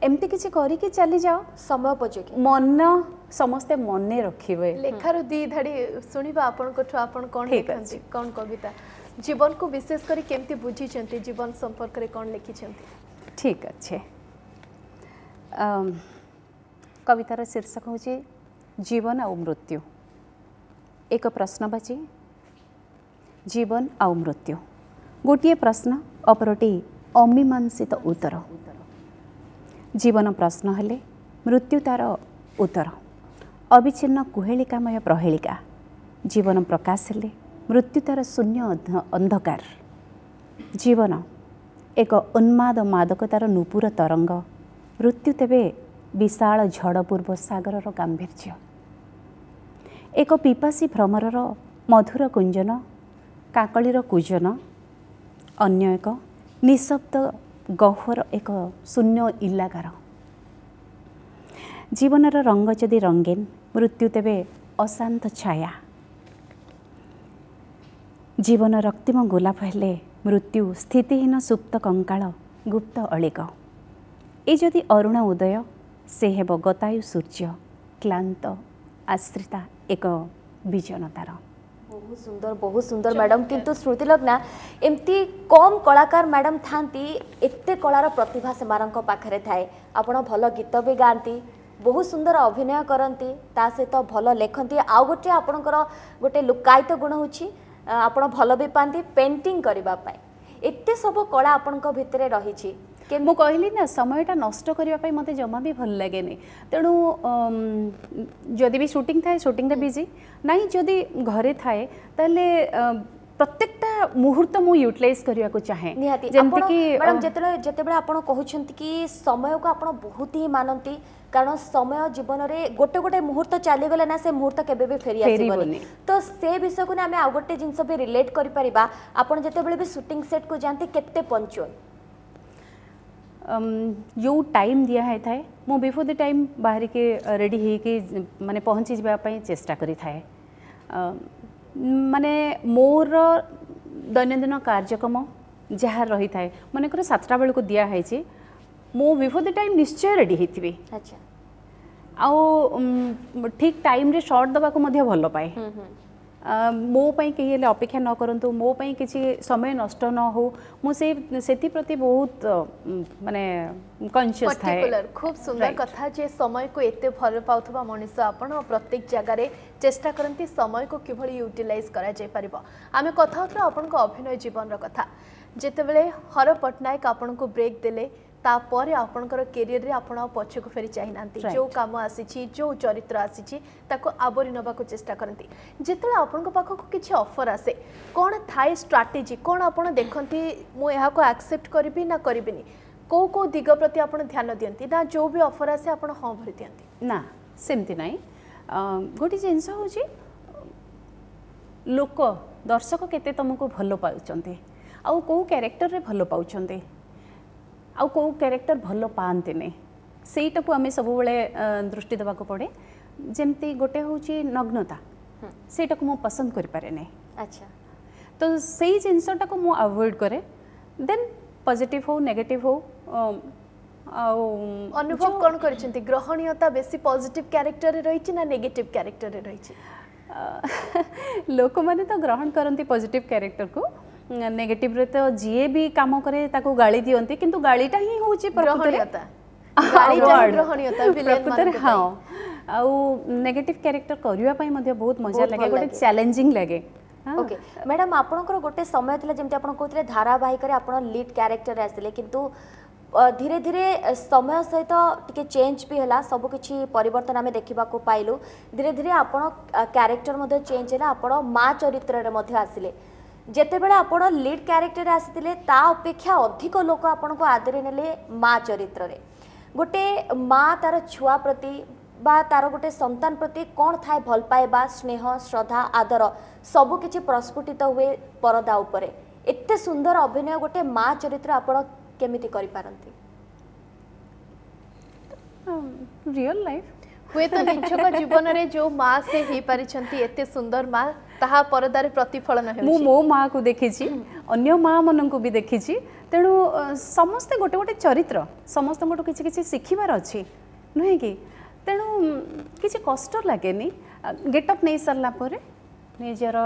ଏମିତି କିଛି କରିକି ଚାଲିଯାଅ ସମୟ ଉପଯୋଗୀ, ମନ ସମସ୍ତେ ମନେ ରଖିବେ। ଲେଖାରୁ ଦି ଧାଡ଼ି ଶୁଣିବା ଆପଣଙ୍କଠୁ, ଆପଣ କ'ଣ ଲେଖନ୍ତି, କ'ଣ କବିତା, ଜୀବନକୁ ବିଶେଷ କରି କେମିତି ବୁଝିଛନ୍ତି, ଜୀବନ ସମ୍ପର୍କରେ କ'ଣ ଲେଖିଛନ୍ତି? ଠିକ୍ ଅଛି। କବିତାର ଶୀର୍ଷକ ହେଉଛି ଜୀବନ ଆଉ ମୃତ୍ୟୁ। ଏକ ପ୍ରଶ୍ନବାଚୀ, ଜୀବନ ଆଉ ମୃତ୍ୟୁ। ଗୋଟିଏ ପ୍ରଶ୍ନ, ଅପରଟି ଅମୀମାଂସିତ ଉତ୍ତର। ଜୀବନ ପ୍ରଶ୍ନ ହେଲେ ମୃତ୍ୟୁ ତାର ଉତ୍ତର, ଅବିଚ୍ଛିନ୍ନ କୁହେଳିକାମୟ ପ୍ରହେଳିକା। ଜୀବନ ପ୍ରକାଶ ହେଲେ ମୃତ୍ୟୁ ତାର ଶୂନ୍ୟ ଅନ୍ଧକାର। ଜୀବନ ଏକ ଉନ୍ମାଦ ମାଦକତାର ନୂପୁର ତରଙ୍ଗ, ମୃତ୍ୟୁ ତେବେ ବିଶାଳ ଝଡ଼ ପୂର୍ବ ସାଗରର ଗାମ୍ଭୀର୍ଯ୍ୟ। ଏକ ପିପାସୀ ଭ୍ରମରର ମଧୁର କୁଞ୍ଜନ, କାକଳିର କୁଜନ, ଅନ୍ୟ ଏକ ନିଶବ୍ଦ ଗହ୍ୱର ଏକ ଶୂନ୍ୟ ଇଲାକାର। ଜୀବନର ରଙ୍ଗ ଯଦି ରଙ୍ଗୀନ, ମୃତ୍ୟୁ ତେବେ ଅଶାନ୍ତ ଛାୟା। ଜୀବନ ରକ୍ତିମ ଗୋଲାପ ହେଲେ ମୃତ୍ୟୁ ସ୍ଥିତିହୀନ ସୁପ୍ତ କଙ୍କାଳ ଗୁପ୍ତ ଅଳିକ। ଏ ଯଦି ଅରୁଣ ଉଦୟ, ସେ ହେବ ଗତାୟୁ ସୂର୍ଯ୍ୟ, କ୍ଳାନ୍ତ ଆଶ୍ରିତା ଏକ ବିଜନତାର। ବହୁତ ସୁନ୍ଦର, ବହୁତ ସୁନ୍ଦର ମ୍ୟାଡ଼ାମ୍। କିନ୍ତୁ ଶ୍ରୁତିଲଗ୍ନା, ଏମିତି କମ୍ କଳାକାର ମ୍ୟାଡ଼ାମ୍ ଥାନ୍ତି, ଏତେ କଳାର ପ୍ରତିଭା ସେମାନଙ୍କ ପାଖରେ ଥାଏ। ଆପଣ ଭଲ ଗୀତ ବି ଗାଆନ୍ତି, ବହୁତ ସୁନ୍ଦର ଅଭିନୟ କରନ୍ତି, ତା ସହିତ ଭଲ ଲେଖନ୍ତି। ଆଉ ଗୋଟେ ଆପଣଙ୍କର ଗୋଟେ ଲୁକାୟିତ ଗୁଣ ହେଉଛି ଆପଣ ଭଲ ବି ପାଆନ୍ତି ପେଣ୍ଟିଂ କରିବା ପାଇଁ। ଏତେ ସବୁ କଳା ଆପଣଙ୍କ ଭିତରେ ରହିଛି। ମୁଁ କହିଲି ନା, ସମୟଟା ନଷ୍ଟ କରିବା ପାଇଁ ମୋତେ ଜମା ବି ଭଲ ଲାଗେନି। ତେଣୁ ଯଦି ବି ସୁଟିଂ ଥାଏ, ସୁଟିଂରେ ବିଜି, ନାଇଁ ଯଦି ଘରେ ଥାଏ ତାହେଲେ ପ୍ରତ୍ୟେକଟା ମୁହୂର୍ତ୍ତ ମୁଁ ୟୁଟିଲାଇଜ୍ କରିବାକୁ ଚାହେଁ। ନିହାତି। ଯେମିତିକି ମ୍ୟାଡ଼ାମ୍, ଯେତେବେଳେ ଯେତେବେଳେ ଆପଣ କହୁଛନ୍ତି କି ସମୟକୁ ଆପଣ ବହୁତ ହିଁ ମାନନ୍ତି, କାରଣ ସମୟ ଜୀବନରେ ଗୋଟେ ଗୋଟେ ମୁହୂର୍ତ୍ତ ଚାଲିଗଲେ ନା ସେ ମୁହୂର୍ତ୍ତ କେବେ ବି ଫେରି ଆସିବନି, ତ ସେ ବିଷୟକୁ ନା ଆମେ ଆଉ ଗୋଟେ ଜିନିଷ ବି ରିଲେଟ୍ କରିପାରିବା। ଆପଣ ଯେତେବେଳେ ବି ସୁଟିଂ ସେଟ୍କୁ ଯାଆନ୍ତି କେତେ ପଞ୍ଚୁଆଲ? ଯେଉଁ ଟାଇମ୍ ଦିଆ ହେଇଥାଏ ମୁଁ ବିଫୋର୍ the time ବାହାରିକି ରେଡ଼ି ହେଇକି ମାନେ ପହଞ୍ଚିଯିବା ପାଇଁ ଚେଷ୍ଟା କରିଥାଏ। ମାନେ ମୋର ଦୈନନ୍ଦିନ କାର୍ଯ୍ୟକ୍ରମ ଯାହା ରହିଥାଏ, ମନେକର ସାତଟା ବେଳକୁ ଦିଆହେଇଛି, ମୁଁ ବିଫୋର୍ the time ନିଶ୍ଚୟ ରେଡ଼ି ହେଇଥିବି। ଆଚ୍ଛା। ଆଉ ଠିକ୍ ଟାଇମ୍ରେ ସର୍ଟ ଦେବାକୁ ମଧ୍ୟ ଭଲ ପାଏ। ମୋ ପାଇଁ କେହି ହେଲେ ଅପେକ୍ଷା ନ କରନ୍ତୁ, ମୋ ପାଇଁ କିଛି ସମୟ ନଷ୍ଟ ନ ହଉ, ମୁଁ ସେ ସେଥିପ୍ରତି ବହୁତ ମାନେ କନସିୟସ୍ ଥାଏ। ଖୁବ୍ ସୁନ୍ଦର କଥା ଯେ ସମୟକୁ ଏତେ ଭଲ ପାଉଥିବା ମଣିଷ ଆପଣ ପ୍ରତ୍ୟେକ ଜାଗାରେ ଚେଷ୍ଟା କରନ୍ତି ସମୟକୁ କିଭଳି ୟୁଟିଲାଇଜ୍ କରାଯାଇପାରିବ। ଆମେ କଥା ହେଉଥିଲୁ ଆପଣଙ୍କ ଅଭିନୟ ଜୀବନର କଥା। ଯେତେବେଳେ ହର ପଟ୍ଟନାୟକ ଆପଣଙ୍କୁ ବ୍ରେକ୍ ଦେଲେ, ତାପରେ ଆପଣଙ୍କର କ୍ୟାରିୟରରେ ଆପଣ ଆଉ ପଛକୁ ଫେରି ଚାହିଁନାହାନ୍ତି। ଯେଉଁ କାମ ଆସିଛି, ଯେଉଁ ଚରିତ୍ର ଆସିଛି, ତାକୁ ଆବୋରି ନେବାକୁ ଚେଷ୍ଟା କରନ୍ତି। ଯେତେବେଳେ ଆପଣଙ୍କ ପାଖକୁ କିଛି ଅଫର୍ ଆସେ, କ'ଣ ଥାଏ ଷ୍ଟ୍ରାଟେଜି? କ'ଣ ଆପଣ ଦେଖନ୍ତି, ମୁଁ ଏହାକୁ ଆକ୍ସେପ୍ଟ କରିବି ନା କରିବିନି? କେଉଁ କେଉଁ ଦିଗ ପ୍ରତି ଆପଣ ଧ୍ୟାନ ଦିଅନ୍ତି, ନା ଯେଉଁ ବି ଅଫର୍ ଆସେ ଆପଣ ହଁ ଭରି ଦିଅନ୍ତି? ନା, ସେମିତି ନାହିଁ। ଗୋଟେ ଜିନିଷ ହେଉଛି ଲୋକ, ଦର୍ଶକ କେତେ ତୁମକୁ ଭଲ ପାଉଛନ୍ତି, ଆଉ କେଉଁ କ୍ୟାରେକ୍ଟରରେ ଭଲ ପାଉଛନ୍ତି, ଆଉ କେଉଁ କ୍ୟାରେକ୍ଟର ଭଲ ପାଆନ୍ତିନି, ସେଇଟାକୁ ଆମେ ସବୁବେଳେ ଦୃଷ୍ଟି ଦେବାକୁ ପଡ଼େ। ଯେମିତି ଗୋଟେ ହେଉଛି ନଗ୍ନତା, ସେଇଟାକୁ ମୁଁ ପସନ୍ଦ କରିପାରେନି। ଆଚ୍ଛା ତ ସେଇ ଜିନିଷଟାକୁ ମୁଁ ଆଭଏଡ଼ କରେ। ଦେନ୍ ପଜିଟିଭ୍ ହଉ, ନେଗେଟିଭ୍ ହଉ, ଆଉ ଅନୁଭବ କ'ଣ କରିଛନ୍ତି? ଗ୍ରହଣୀୟତା ବେଶୀ ପଜିଟିଭ୍ କ୍ୟାରେକ୍ଟରରେ ରହିଛି ନା ନେଗେଟିଭ୍ କ୍ୟାରେକ୍ଟରରେ ରହିଛି? ଲୋକମାନେ ତ ଗ୍ରହଣ କରନ୍ତି ପଜିଟିଭ୍ କ୍ୟାରେକ୍ଟରକୁ। ନେଗେଟିଭରେ ତ ଯିଏ ବି କାମ କରେ ତାକୁ ଗାଳି ଦିଅନ୍ତି, କିନ୍ତୁ ଗାଳିଟା ହିଁ ହେଉଛି ଗ୍ରହଣୀୟତା। ପ୍ରକୃତରେ ହଁ। ଆଉ ନେଗେଟିଭ୍ କ୍ୟାରେକ୍ଟର କରିବା ପାଇଁ ମଧ୍ୟ ବହୁତ ମଜା ଲାଗେ, ଗୋଟେ ଚ୍ୟାଲେଞ୍ଜିଂ ଲାଗେ। ଓକେ ମ୍ୟାଡ଼ାମ୍, ଆପଣଙ୍କର ଗୋଟେ ସମୟ ଥିଲା, ଯେମିତି ଆପଣ କହୁଥିଲେ, ଧାରାବାହିକରେ ଆପଣ ଲିଡ୍ କ୍ୟାରେକ୍ଟରରେ ଆସିଲେ, କିନ୍ତୁ ଧୀରେ ଧୀରେ ସମୟ ସହିତ ଟିକେ ଚେଞ୍ଜ ବି ହେଲା, ସବୁକିଛି ପରିବର୍ତ୍ତନ ଆମେ ଦେଖିବାକୁ ପାଇଲୁ। ଧୀରେ ଧୀରେ ଆପଣ କ୍ୟାରେକ୍ଟର ମଧ୍ୟ ଚେଞ୍ଜ ହେଲା, ଆପଣ ମା ଚରିତ୍ରରେ ମଧ୍ୟ ଆସିଲେ। ଯେତେବେଳେ ଆପଣ ଲିଡ୍ କ୍ୟାରେକ୍ଟରରେ ଆସିଥିଲେ, ତା ଅପେକ୍ଷା ଅଧିକ ଲୋକ ଆପଣଙ୍କୁ ଆଦରି ନେଲେ ମା ଚରିତ୍ରରେ। ଗୋଟେ ମା ତାର ଛୁଆ ପ୍ରତି ବା ତାର ଗୋଟେ ସନ୍ତାନ ପ୍ରତି କ'ଣ ଥାଏ ଭଲ ପାଇବା, ସ୍ନେହ, ଶ୍ରଦ୍ଧା, ଆଦର ସବୁକିଛି ପ୍ରସ୍ଫୁଟିତ ହୁଏ ପରଦା ଉପରେ। ଏତେ ସୁନ୍ଦର ଅଭିନୟ ଗୋଟେ ମା ଚରିତ୍ର ଆପଣ କେମିତି କରିପାରନ୍ତି? ରିଅଲ ଲାଇଫ୍ ହୁଏତ ନିଛକ ଜୀବନରେ ଯେଉଁ ମା ସେ ହେଇପାରିଛନ୍ତି, ଏତେ ସୁନ୍ଦର ମା, ତାହା ପରଦାରେ ପ୍ରତିଫଳନ ହେଉଛି। ମୁଁ ମୋ ମାଆକୁ ଦେଖିଛି, ଅନ୍ୟ ମା ମାନଙ୍କୁ ବି ଦେଖିଛି। ତେଣୁ ସମସ୍ତେ ଗୋଟେ ଗୋଟେ ଚରିତ୍ର, ସମସ୍ତଙ୍କଠୁ କିଛି କିଛି ଶିଖିବାର ଅଛି, ନୁହେଁ କି? ତେଣୁ କିଛି କଷ୍ଟ ଲାଗେନି। ଗେଟଅପ୍ ନେଇ ସାରିଲା ପରେ, ନିଜର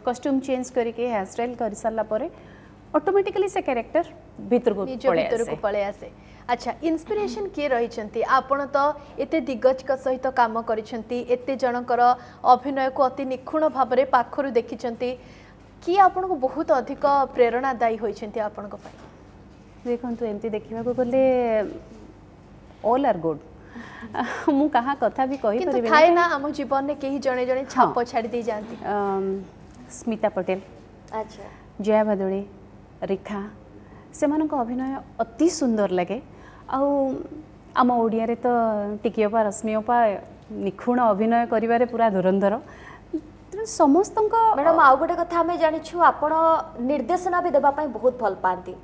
କଷ୍ଟ୍ୟୁମ୍ ଚେଞ୍ଜ କରିକି ହେୟାର ଷ୍ଟାଇଲ୍ କରିସାରିଲା ପରେ ଅଟୋମେଟିକାଲି ସେ କ୍ୟାରେକ୍ଟର ଭିତରକୁ ନିଜ ଭିତରକୁ ପଳେଇ ଆସେ। ଆଚ୍ଛା, ଇନ୍ସପିରେସନ୍ କିଏ ରହିଛନ୍ତି? ଆପଣ ତ ଏତେ ଦିଗ୍ଗଜଙ୍କ ସହିତ କାମ କରିଛନ୍ତି, ଏତେ ଜଣଙ୍କର ଅଭିନୟକୁ ଅତି ନିଖୁଣ ଭାବରେ ପାଖରୁ ଦେଖିଛନ୍ତି, କିଏ ଆପଣଙ୍କୁ ବହୁତ ଅଧିକ ପ୍ରେରଣାଦାୟୀ ହୋଇଛନ୍ତି ଆପଣଙ୍କ ପାଇଁ? ଦେଖନ୍ତୁ, ଏମିତି ଦେଖିବାକୁ ଗଲେ ଅଲ୍ ଆର୍ ଗୁଡ୍। ମୁଁ କାହା କଥା ବି କହିପାରିବିନି। ଥାଏ ନା ଆମ ଜୀବନରେ କେହି ଜଣେ ଜଣେ ଛାପ ଛାଡ଼ି ଦେଇ ଯାଆନ୍ତି। ସ୍ମିତା ପଟେଲ, ଆଚ୍ଛା ଜୟା ଭାଦୁଡ଼ି, ରେଖା, ସେମାନଙ୍କ ଅଭିନୟ ଅତି ସୁନ୍ଦର ଲାଗେ। ଆଉ ଆମ ଓଡ଼ିଆରେ ତ ଟିକି ଅପା, ରଶ୍ମି ଅପା ନିଖୁଣ ଅଭିନୟ କରିବାରେ ପୁରା ଧୁରନ୍ଧର। ତେଣୁ ସମସ୍ତଙ୍କ ମ୍ୟାଡ଼ାମ୍, ଆଉ ଗୋଟେ କଥା ଆମେ ଜାଣିଛୁ, ଆପଣ ନିର୍ଦ୍ଦେଶନା ବି ଦେବା ପାଇଁ ବହୁତ ଭଲ ପାଆନ୍ତି।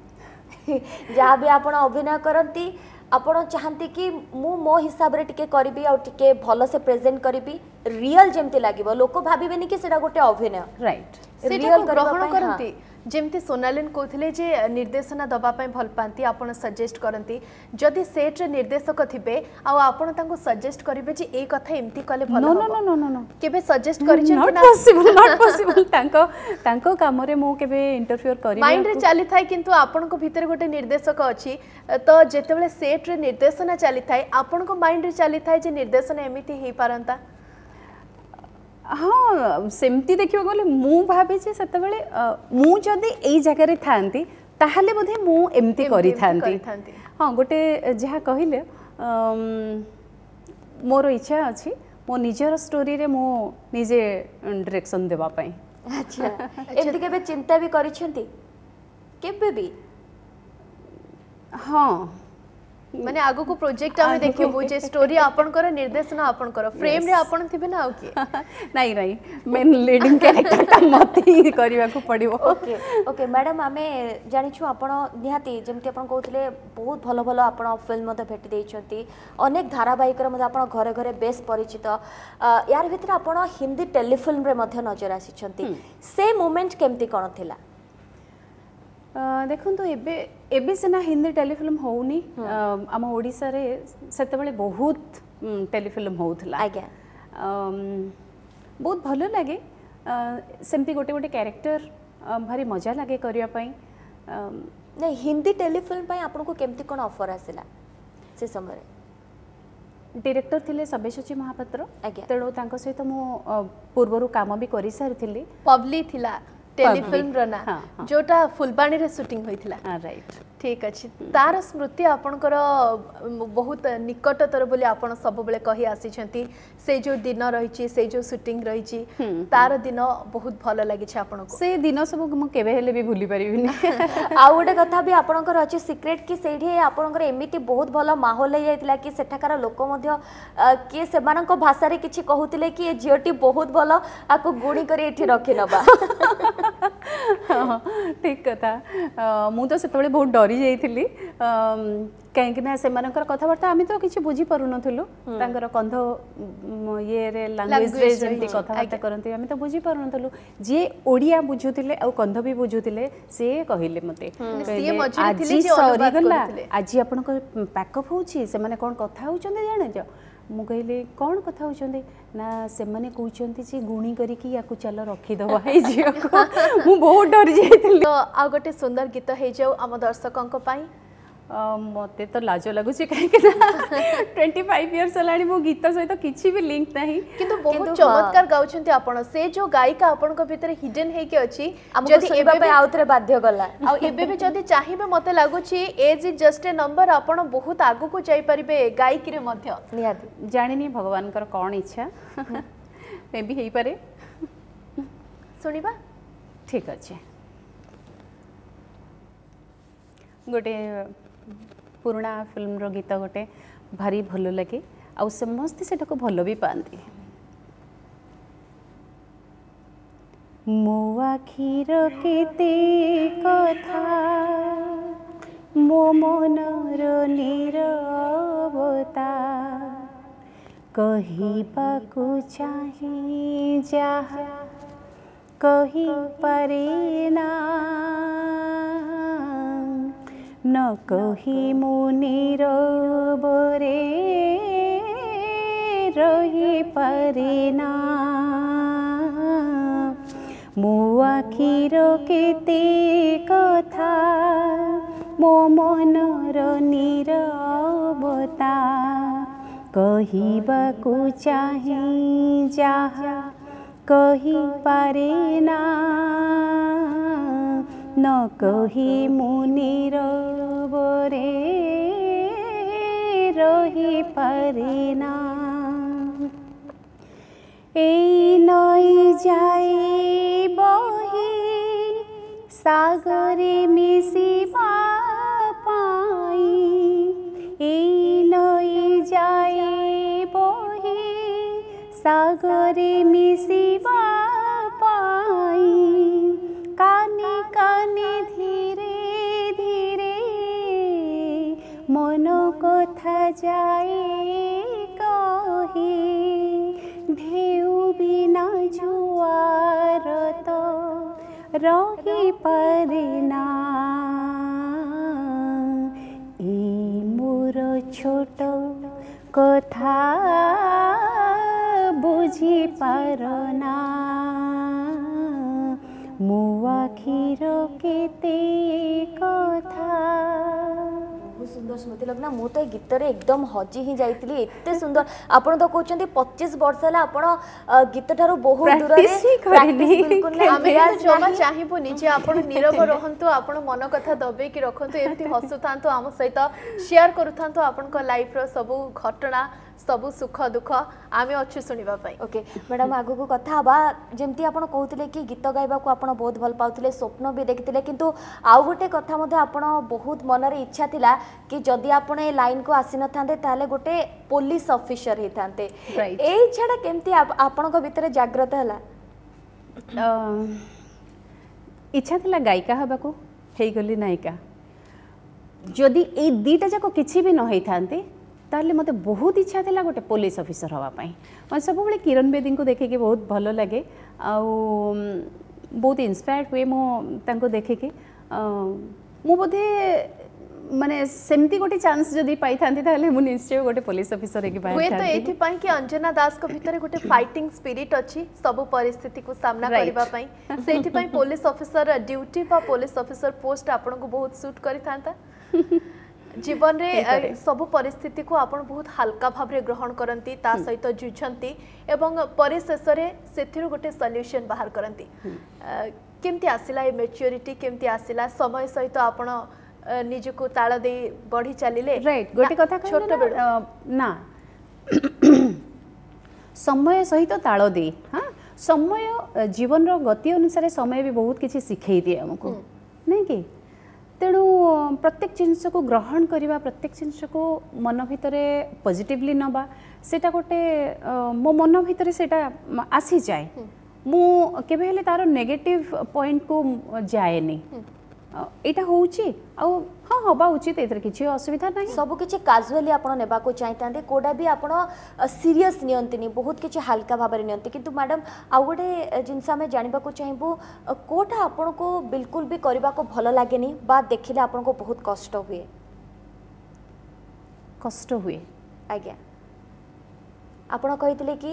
ଯାହା ବି ଆପଣ ଅଭିନୟ କରନ୍ତି, ଆପଣ ଚାହାନ୍ତି କି ମୁଁ ମୋ ହିସାବରେ ଟିକେ କରିବି ଆଉ ଟିକେ ଭଲସେ ପ୍ରେଜେଣ୍ଟ କରିବି, ରିଅଲ ଯେମିତି ଲାଗିବ, ଲୋକ ଭାବିବେନି କି ସେଇଟା ଗୋଟେ ଅଭିନୟ। ରାଇଟ୍। ସେଇଟାକୁ ଗ୍ରହଣ କରନ୍ତି। ଯେମିତି ସୋନାଲିନ କହୁଥିଲେ ଯେ ନିର୍ଦ୍ଦେଶନା ଦେବା ପାଇଁ ଭଲ ପାଆନ୍ତି, ଆପଣ ସଜେଷ୍ଟ କରନ୍ତି। ଯଦି ସେଟ୍ରେ ନିର୍ଦ୍ଦେଶକ ଥିବେ ଆଉ ଆପଣ ତାଙ୍କୁ ସଜେଷ୍ଟ କରିବେ ଯେ ଏଇ କଥା ଏମିତି କଲେ ଭଲ ହବ, କେବେ ସଜେଷ୍ଟ କରିଛନ୍ତି? Not possible, not possible. ତାଙ୍କ ତାଙ୍କ କାମରେ ମୁଁ କେବେ ଇଣ୍ଟରଫିୟର କରି ମାଇଣ୍ଡରେ ଚାଲିଥାଏ, କିନ୍ତୁ ଆପଣଙ୍କ ଭିତରେ ଗୋଟେ ନିର୍ଦ୍ଦେଶକ ଅଛି। ତ ଯେତେବେଳେ ସେଟ୍ରେ ନିର୍ଦ୍ଦେଶନା ଚାଲିଥାଏ, ଆପଣଙ୍କ ମାଇଣ୍ଡରେ ଚାଲିଥାଏ ଯେ ନିର୍ଦ୍ଦେଶନା ଏମିତି ହେଇପାରନ୍ତା? ହଁ, ସେମିତି ଦେଖିବାକୁ ଗଲେ ମୁଁ ଭାବେ ଯେ ସେତେବେଳେ ମୁଁ ଯଦି ଏଇ ଜାଗାରେ ଥାଆନ୍ତି, ତାହେଲେ ବୋଧେ ମୁଁ ଏମିତି କରିଥାନ୍ତି। ହଁ, ଗୋଟେ ଯାହା କହିଲେ, ମୋର ଇଚ୍ଛା ଅଛି ମୋ ନିଜର ଷ୍ଟୋରିରେ ମୁଁ ନିଜେ ଡିରେକ୍ସନ୍ ଦେବା ପାଇଁ। ଆଚ୍ଛା, ଏମିତି କେବେ ଚିନ୍ତା ବି କରିଛନ୍ତି କେବେ ବି? ହଁ। ମାନେ ଆଗକୁ ପ୍ରୋଜେକ୍ଟ ଆମେ ଦେଖିବୁ ଯେ ଷ୍ଟୋରି ଆପଣଙ୍କର, ନିର୍ଦ୍ଦେଶନା ଆପଣଙ୍କର, ଫ୍ରେମ୍ରେ ଆପଣ ଥିବେ ନା ଆଉ କିଏ? ନାଇଁ ନାଇଁ, ମେନ୍ ଲିଡିଂ କ୍ୟାରେକ୍ଟରଟା ମତେ ହିଁ କରିବାକୁ ପଡ଼ିବ। ଓକେ ଓକେ ମ୍ୟାଡ଼ାମ୍, ଆମେ ଜାଣିଛୁ ଆପଣ ନିହାତି, ଯେମିତି ଆପଣ କହୁଥିଲେ, ବହୁତ ଭଲ ଭଲ ଆପଣ ଫିଲ୍ମ ମଧ୍ୟ ଭେଟି ଦେଇଛନ୍ତି, ଅନେକ ଧାରାବାହିକରେ ମଧ୍ୟ ଆପଣ ଘରେ ଘରେ ବେଶ ପରିଚିତ। ୟାର ଭିତରେ ଆପଣ ହିନ୍ଦୀ ଟେଲିଫିଲ୍ମରେ ମଧ୍ୟ ନଜର ଆସିଛନ୍ତି, ସେ ମୁମେଣ୍ଟ କେମିତି କ'ଣ ଥିଲା? ଦେଖନ୍ତୁ, ଏବେ ଏବେ ସିନା ହିନ୍ଦୀ ଟେଲିଫିଲ୍ମ ହେଉନି, ଆମ ଓଡ଼ିଶାରେ ସେତେବେଳେ ବହୁତ ଟେଲିଫିଲ୍ମ ହେଉଥିଲା। ଆଜ୍ଞା ବହୁତ ଭଲ ଲାଗେ। ସେମିତି ଗୋଟେ ଗୋଟେ କ୍ୟାରେକ୍ଟର ଭାରି ମଜା ଲାଗେ କରିବା ପାଇଁ। ନାଇଁ, ହିନ୍ଦୀ ଟେଲିଫିଲ୍ମ ପାଇଁ ଆପଣଙ୍କୁ କେମିତି କ'ଣ ଅଫର୍ ଆସିଲା ସେ ସମୟରେ? ଡିରେକ୍ଟର ଥିଲେ ସବ୍ୟସାଚୀ ମହାପାତ୍ର, ଆଜ୍ଞା ତେଣୁ ତାଙ୍କ ସହିତ ମୁଁ ପୂର୍ବରୁ କାମ ବି କରିସାରିଥିଲି। ପବ୍ଲି ଥିଲା ଟେଲିଫିଲ୍ମର ନାଁ, ଯୋଉଟା ଫୁଲବାଣୀରେ ସୁଟିଂ ହୋଇଥିଲା। ରାଇଟ୍। ଠିକ୍ ଅଛି ତାର ସ୍ମୃତି ଆପଣଙ୍କର ବହୁତ ନିକଟତର ବୋଲି ଆପଣ ସବୁବେଳେ କହି ଆସିଛନ୍ତି ସେ ଯେଉଁ ଦିନ ରହିଛି ସେ ଯେଉଁ ସୁଟିଂ ରହିଛି ତାର ଦିନ ବହୁତ ଭଲ ଲାଗିଛି ଆପଣଙ୍କୁ ସେ ଦିନ ସବୁ ମୁଁ କେବେ ହେଲେ ବି ଭୁଲି ପାରିବିନି ଆଉ ଗୋଟେ କଥା ବି ଆପଣଙ୍କର ଅଛି ସିକ୍ରେଟ୍ କି ସେଇଠି ଆପଣଙ୍କର ଏମିତି ବହୁତ ଭଲ ମାହୋଲ ହେଇଯାଇଥିଲା କି ସେଠାକାର ଲୋକ ମଧ୍ୟ କିଏ ସେମାନଙ୍କ ଭାଷାରେ କିଛି କହୁଥିଲେ କି ଏ ଝିଅଟି ବହୁତ ଭଲ ଆକୁ ଗୁଣି କରି ଏଠି ରଖିନବା ଠିକ୍ କଥା ମୁଁ ତ ସେତେବେଳେ ବହୁତ ଡରି ଯାଇଥିଲି କାହିଁକି ନା ସେମାନଙ୍କର କଥାବାର୍ତ୍ତା ଆମେ ତ କିଛି ବୁଝିପାରୁନଥିଲୁ ତାଙ୍କର କନ୍ଧ ଇଏରେ ଲାଙ୍ଗୁଏଜରେ ଯେମିତି କଥାବାର୍ତ୍ତା କରନ୍ତି ଆମେ ତ ବୁଝିପାରୁନଥିଲୁ ଯିଏ ଓଡ଼ିଆ ବୁଝୁଥିଲେ ଆଉ କନ୍ଧ ବି ବୁଝୁଥିଲେ ସିଏ କହିଲେ ମୋତେ ଆଜି ସରିଗଲା ଆଜି ଆପଣଙ୍କ ପ୍ୟାକଅପ୍ ହେଉଛି ସେମାନେ କ'ଣ କଥା ହେଉଛନ୍ତି ଜାଣିଛ ମୁଁ କହିଲି କ'ଣ କଥା ହେଉଛନ୍ତି ନା ସେମାନେ କହୁଛନ୍ତି ଯେ ଗୁଣି କରିକି ୟାକୁ ଚାଲ ରଖିଦେବା ଏଇ ଝିଅକୁ ମୁଁ ବହୁତ ଡରି ଯାଇଥିଲି ଆଉ ଗୋଟେ ସୁନ୍ଦର ଗୀତ ହେଇଯାଉ ଆମ ଦର୍ଶକଙ୍କ ପାଇଁ ମୋତେ ତ ଲାଜ ଲାଗୁଛି କାହିଁକି ନା ଟ୍ୱେଣ୍ଟି ଫାଇଭ୍ ଇୟର୍ସ ହେଲାଣି ମୋ ଗୀତ ସହିତ କିଛି ବି ଲିଙ୍କ ନାହିଁ କିନ୍ତୁ ବହୁତ ଚମତ୍କାର ଗାଉଛନ୍ତି ଆପଣ ସେ ଯୋଉ ଗାୟିକା ଆପଣଙ୍କ ଭିତରେ ହିଡେନ୍ ହେଇକି ଅଛି ଯଦି ଏବେ ବି ଆଉଥରେ ବାଧ୍ୟ କଲା ଆଉ ଏବେ ବି ଯଦି ଚାହିଁବେ ମୋତେ ଲାଗୁଛି age is just a number ଆପଣ ବହୁତ ଆଗକୁ ଯାଇପାରିବେ ଗାୟିକୀରେ ମଧ୍ୟ ନିହାତି ଜାଣିନି ଭଗବାନଙ୍କର କ'ଣ ଇଚ୍ଛା ମେ ବି ହେଇପାରେ ଶୁଣିବା ଠିକ୍ ଅଛି ଗୋଟେ ପୁରୁଣା ଫିଲ୍ମର ଗୀତ ଗୋଟେ ଭାରି ଭଲ ଲାଗେ ଆଉ ସମସ୍ତେ ସେଟାକୁ ଭଲ ବି ପାଆନ୍ତି ମୋ ଆଖିର କେତେ କଥା ମୋ ମନର ନୀରବତା କହିବାକୁ ଚାହେଁ ଯାହା କହିପାରେ ନା ନ କହି ମୁଁ ନୀରବରେ ରହିପାରେ ନା ମୋ ଆଖିର କେତେ କଥା ମୋ ମନର ନୀରବତା କହିବାକୁ ଚାହେଁ ଯାହା କହିପାରେ ନା ନ କହି ମୁଁ ନୀରବରେ ରହିପାରେ ନା ଏଇ ନଈ ଯାଏ ବହି ସାଗରେ ମିଶିବା ପାଇଁ ଏଇ ନଈ ଯାଏ ବହି ସାଗରେ ମିଶିବା ପାଇଁ କାନେ କାନେ ଧୀରେ ଧୀରେ ମନ କଥା ଯାଏ କହି ଢେଉ ବିନା ଜୁଆର ତ ରହିପାରେ ନା ଏଇ ମୋର ଛୋଟ କଥା ବୁଝିପାର ନା ମୋ ଆଖିର କେତେ କଥା ବହୁତ ସୁନ୍ଦର ସ୍ମୃତି ଲଗ୍ନା ମୁଁ ତ ଏ ଗୀତରେ ଏକଦମ ହଜି ହିଁ ଯାଇଥିଲି ଏତେ ସୁନ୍ଦର ଆପଣ ତ କହୁଛନ୍ତି ପଚିଶ ବର୍ଷ ହେଲା ଆପଣ ଗୀତ ଠାରୁ ବହୁତ ଦୂରରେ Practice ହିଁ କରିନି। practice ବିଲକୁଲ ନାହିଁ, ଆମେ ରିୟାଜ କିନ୍ତୁ ଜମା ନାହିଁ। ଚାହିଁବୁନି ଯେ ଆପଣ ନୀରବ ରହନ୍ତୁ ଆପଣ ମନ କଥା ଦବେଇକି ରଖନ୍ତୁ ଏମିତି ହସୁଥାନ୍ତୁ ଆମ ସହିତ ସେୟାର କରୁଥାନ୍ତୁ ଆପଣଙ୍କ ଲାଇଫର ସବୁ ଘଟଣା ସବୁ ସୁଖ ଦୁଃଖ ଆମେ ଅଛୁ ଶୁଣିବା ପାଇଁ ଓକେ ମ୍ୟାଡ଼ାମ ଆଗକୁ କଥା ହେବା ଯେମିତି ଆପଣ କହୁଥିଲେ କି ଗୀତ ଗାଇବାକୁ ଆପଣ ବହୁତ ଭଲ ପାଉଥିଲେ ସ୍ୱପ୍ନ ବି ଦେଖିଥିଲେ କିନ୍ତୁ ଆଉ ଗୋଟେ କଥା ମଧ୍ୟ ଆପଣ ବହୁତ ମନରେ ଇଚ୍ଛା ଥିଲା କି ଯଦି ଆପଣ ଏ ଲାଇନକୁ ଆସିନଥାନ୍ତେ ତାହେଲେ ଗୋଟେ ପୋଲିସ ଅଫିସର ହେଇଥାନ୍ତେ Right. ଏଇ ଇଚ୍ଛାଟା କେମିତି ଆପ- ଆପଣଙ୍କ ଭିତରେ ଜାଗ୍ରତ ହେଲା ଇଚ୍ଛା ଥିଲା ଗାୟିକା ହେବାକୁ ହେଇଗଲି ନାୟିକା ଯଦି ଏଇ ଦୁଇଟା ଯାକ କିଛି ବି ନ ହେଇଥାନ୍ତି ତାହେଲେ ମୋତେ ବହୁତ ଇଚ୍ଛା ଥିଲା ଗୋଟେ ପୋଲିସ ଅଫିସର ହେବା ପାଇଁ ମୋତେ ସବୁବେଳେ କିରଣ ବେଦୀଙ୍କୁ ଦେଖିକି ବହୁତ ଭଲ ଲାଗେ ଆଉ ଉମ୍, ବହୁତ ଇନ୍ସପାୟାର୍ଡ ହୁଏ ମୁଁ ତାଙ୍କୁ ଦେଖିକି ଅଁ, ମୁଁ ବୋଧେ ମାନେ ସେମିତି ଗୋଟେ ଚାନ୍ସ ଯଦି ପାଇଥାନ୍ତି ତାହେଲେ ମୁଁ ନିଶ୍ଚୟ ଗୋଟେ ପୋଲିସ ଅଫିସର ହେଇକି ହୁଏତ ବାହାରିଥାନ୍ତି ଏଇଥିପାଇଁ କି ଅଞ୍ଜନା ଦାସଙ୍କ ଭିତରେ ଗୋଟେ ଫାଇଟିଂ ସ୍ପିରିଟ୍ ଅଛି ସବୁ ପରିସ୍ଥିତିକୁ ସାମ୍ନା Right. କରିବା ପାଇଁ ସେଇଥିପାଇଁ ପୋଲିସ ଅଫିସର ଡ୍ୟୁଟି ବା ପୋଲିସ ଅଫିସର ପୋଷ୍ଟ ଆପଣଙ୍କୁ ବହୁତ ସୁଟ୍ କରିଥାନ୍ତା ଜୀବନରେ ଅ, ହେଇପାରେ। ସବୁ ପରିସ୍ଥିତିକୁ ଆପଣ ବହୁତ ହାଲକା ଭାବରେ ଗ୍ରହଣ କରନ୍ତି ତା ସହିତ ଯୁଝନ୍ତି ଏବଂ ପରିଶେଷରେ ସେଥିରୁ ଗୋଟେ ସଲ୍ୟୁସନ ବାହାର କରନ୍ତି ଅ, କେମିତି ଆସିଲା ଏ ମେଚ୍ୟୁରିଟି କେମିତି ଆସିଲା ସମୟ ସହିତ ଆପଣ ନିଜକୁ ତାଳ ଦେଇ ବଢ଼ି ଚାଲିଲେ ରାଇଟ୍ ଗୋଟେ କଥା ଛୋଟ ବେଳୁ ନା ସମୟ ସହିତ ତାଳ ଦେଇ ହଁ ସମୟ ଜୀବନର ଗତି ଅନୁସାରେ ସମୟ ବି ବହୁତ କିଛି ଶିଖେଇ ଦିଏ ଆମକୁ ନାଇଁ କି ତେଣୁ ପ୍ରତ୍ୟେକ ଜିନିଷକୁ ଗ୍ରହଣ କରିବା ପ୍ରତ୍ୟେକ ଜିନିଷକୁ ମନ ଭିତରେ ପଜିଟିଭଲି ନେବା ସେଇଟା ଗୋଟେ ମୋ ମନ ଭିତରେ ସେଇଟା ଆସିଯାଏ ମୁଁ କେବେ ହେଲେ ତାର ନେଗେଟିଭ ପଏଣ୍ଟକୁ ଯାଏନି ଏଇଟା ହେଉଛି ଆଉ ହଁ ହେବା ଉଚିତ ଏଥିରେ କିଛି ଅସୁବିଧା ନାହିଁ ସବୁ କିଛି କାଜୁଆଲି ଆପଣ ନେବାକୁ ଚାହିଁଥାନ୍ତି କୋଉଟା ବି ଆପଣ ସିରିୟସ୍ ନିଅନ୍ତିନି ବହୁତ କିଛି ହାଲକା ଭାବରେ ନିଅନ୍ତି କିନ୍ତୁ ମ୍ୟାଡ଼ାମ୍ ଆଉ ଗୋଟେ ଜିନିଷ ଆମେ ଜାଣିବାକୁ ଚାହିଁବୁ କୋଉଟା ଆପଣଙ୍କୁ ବିଲକୁଲ ବି କରିବାକୁ ଭଲ ଲାଗେନି ବା ଦେଖିଲେ ଆପଣଙ୍କୁ ବହୁତ କଷ୍ଟ ହୁଏ କଷ୍ଟ ହୁଏ ଆଜ୍ଞା ଆପଣ କହିଥିଲେ କି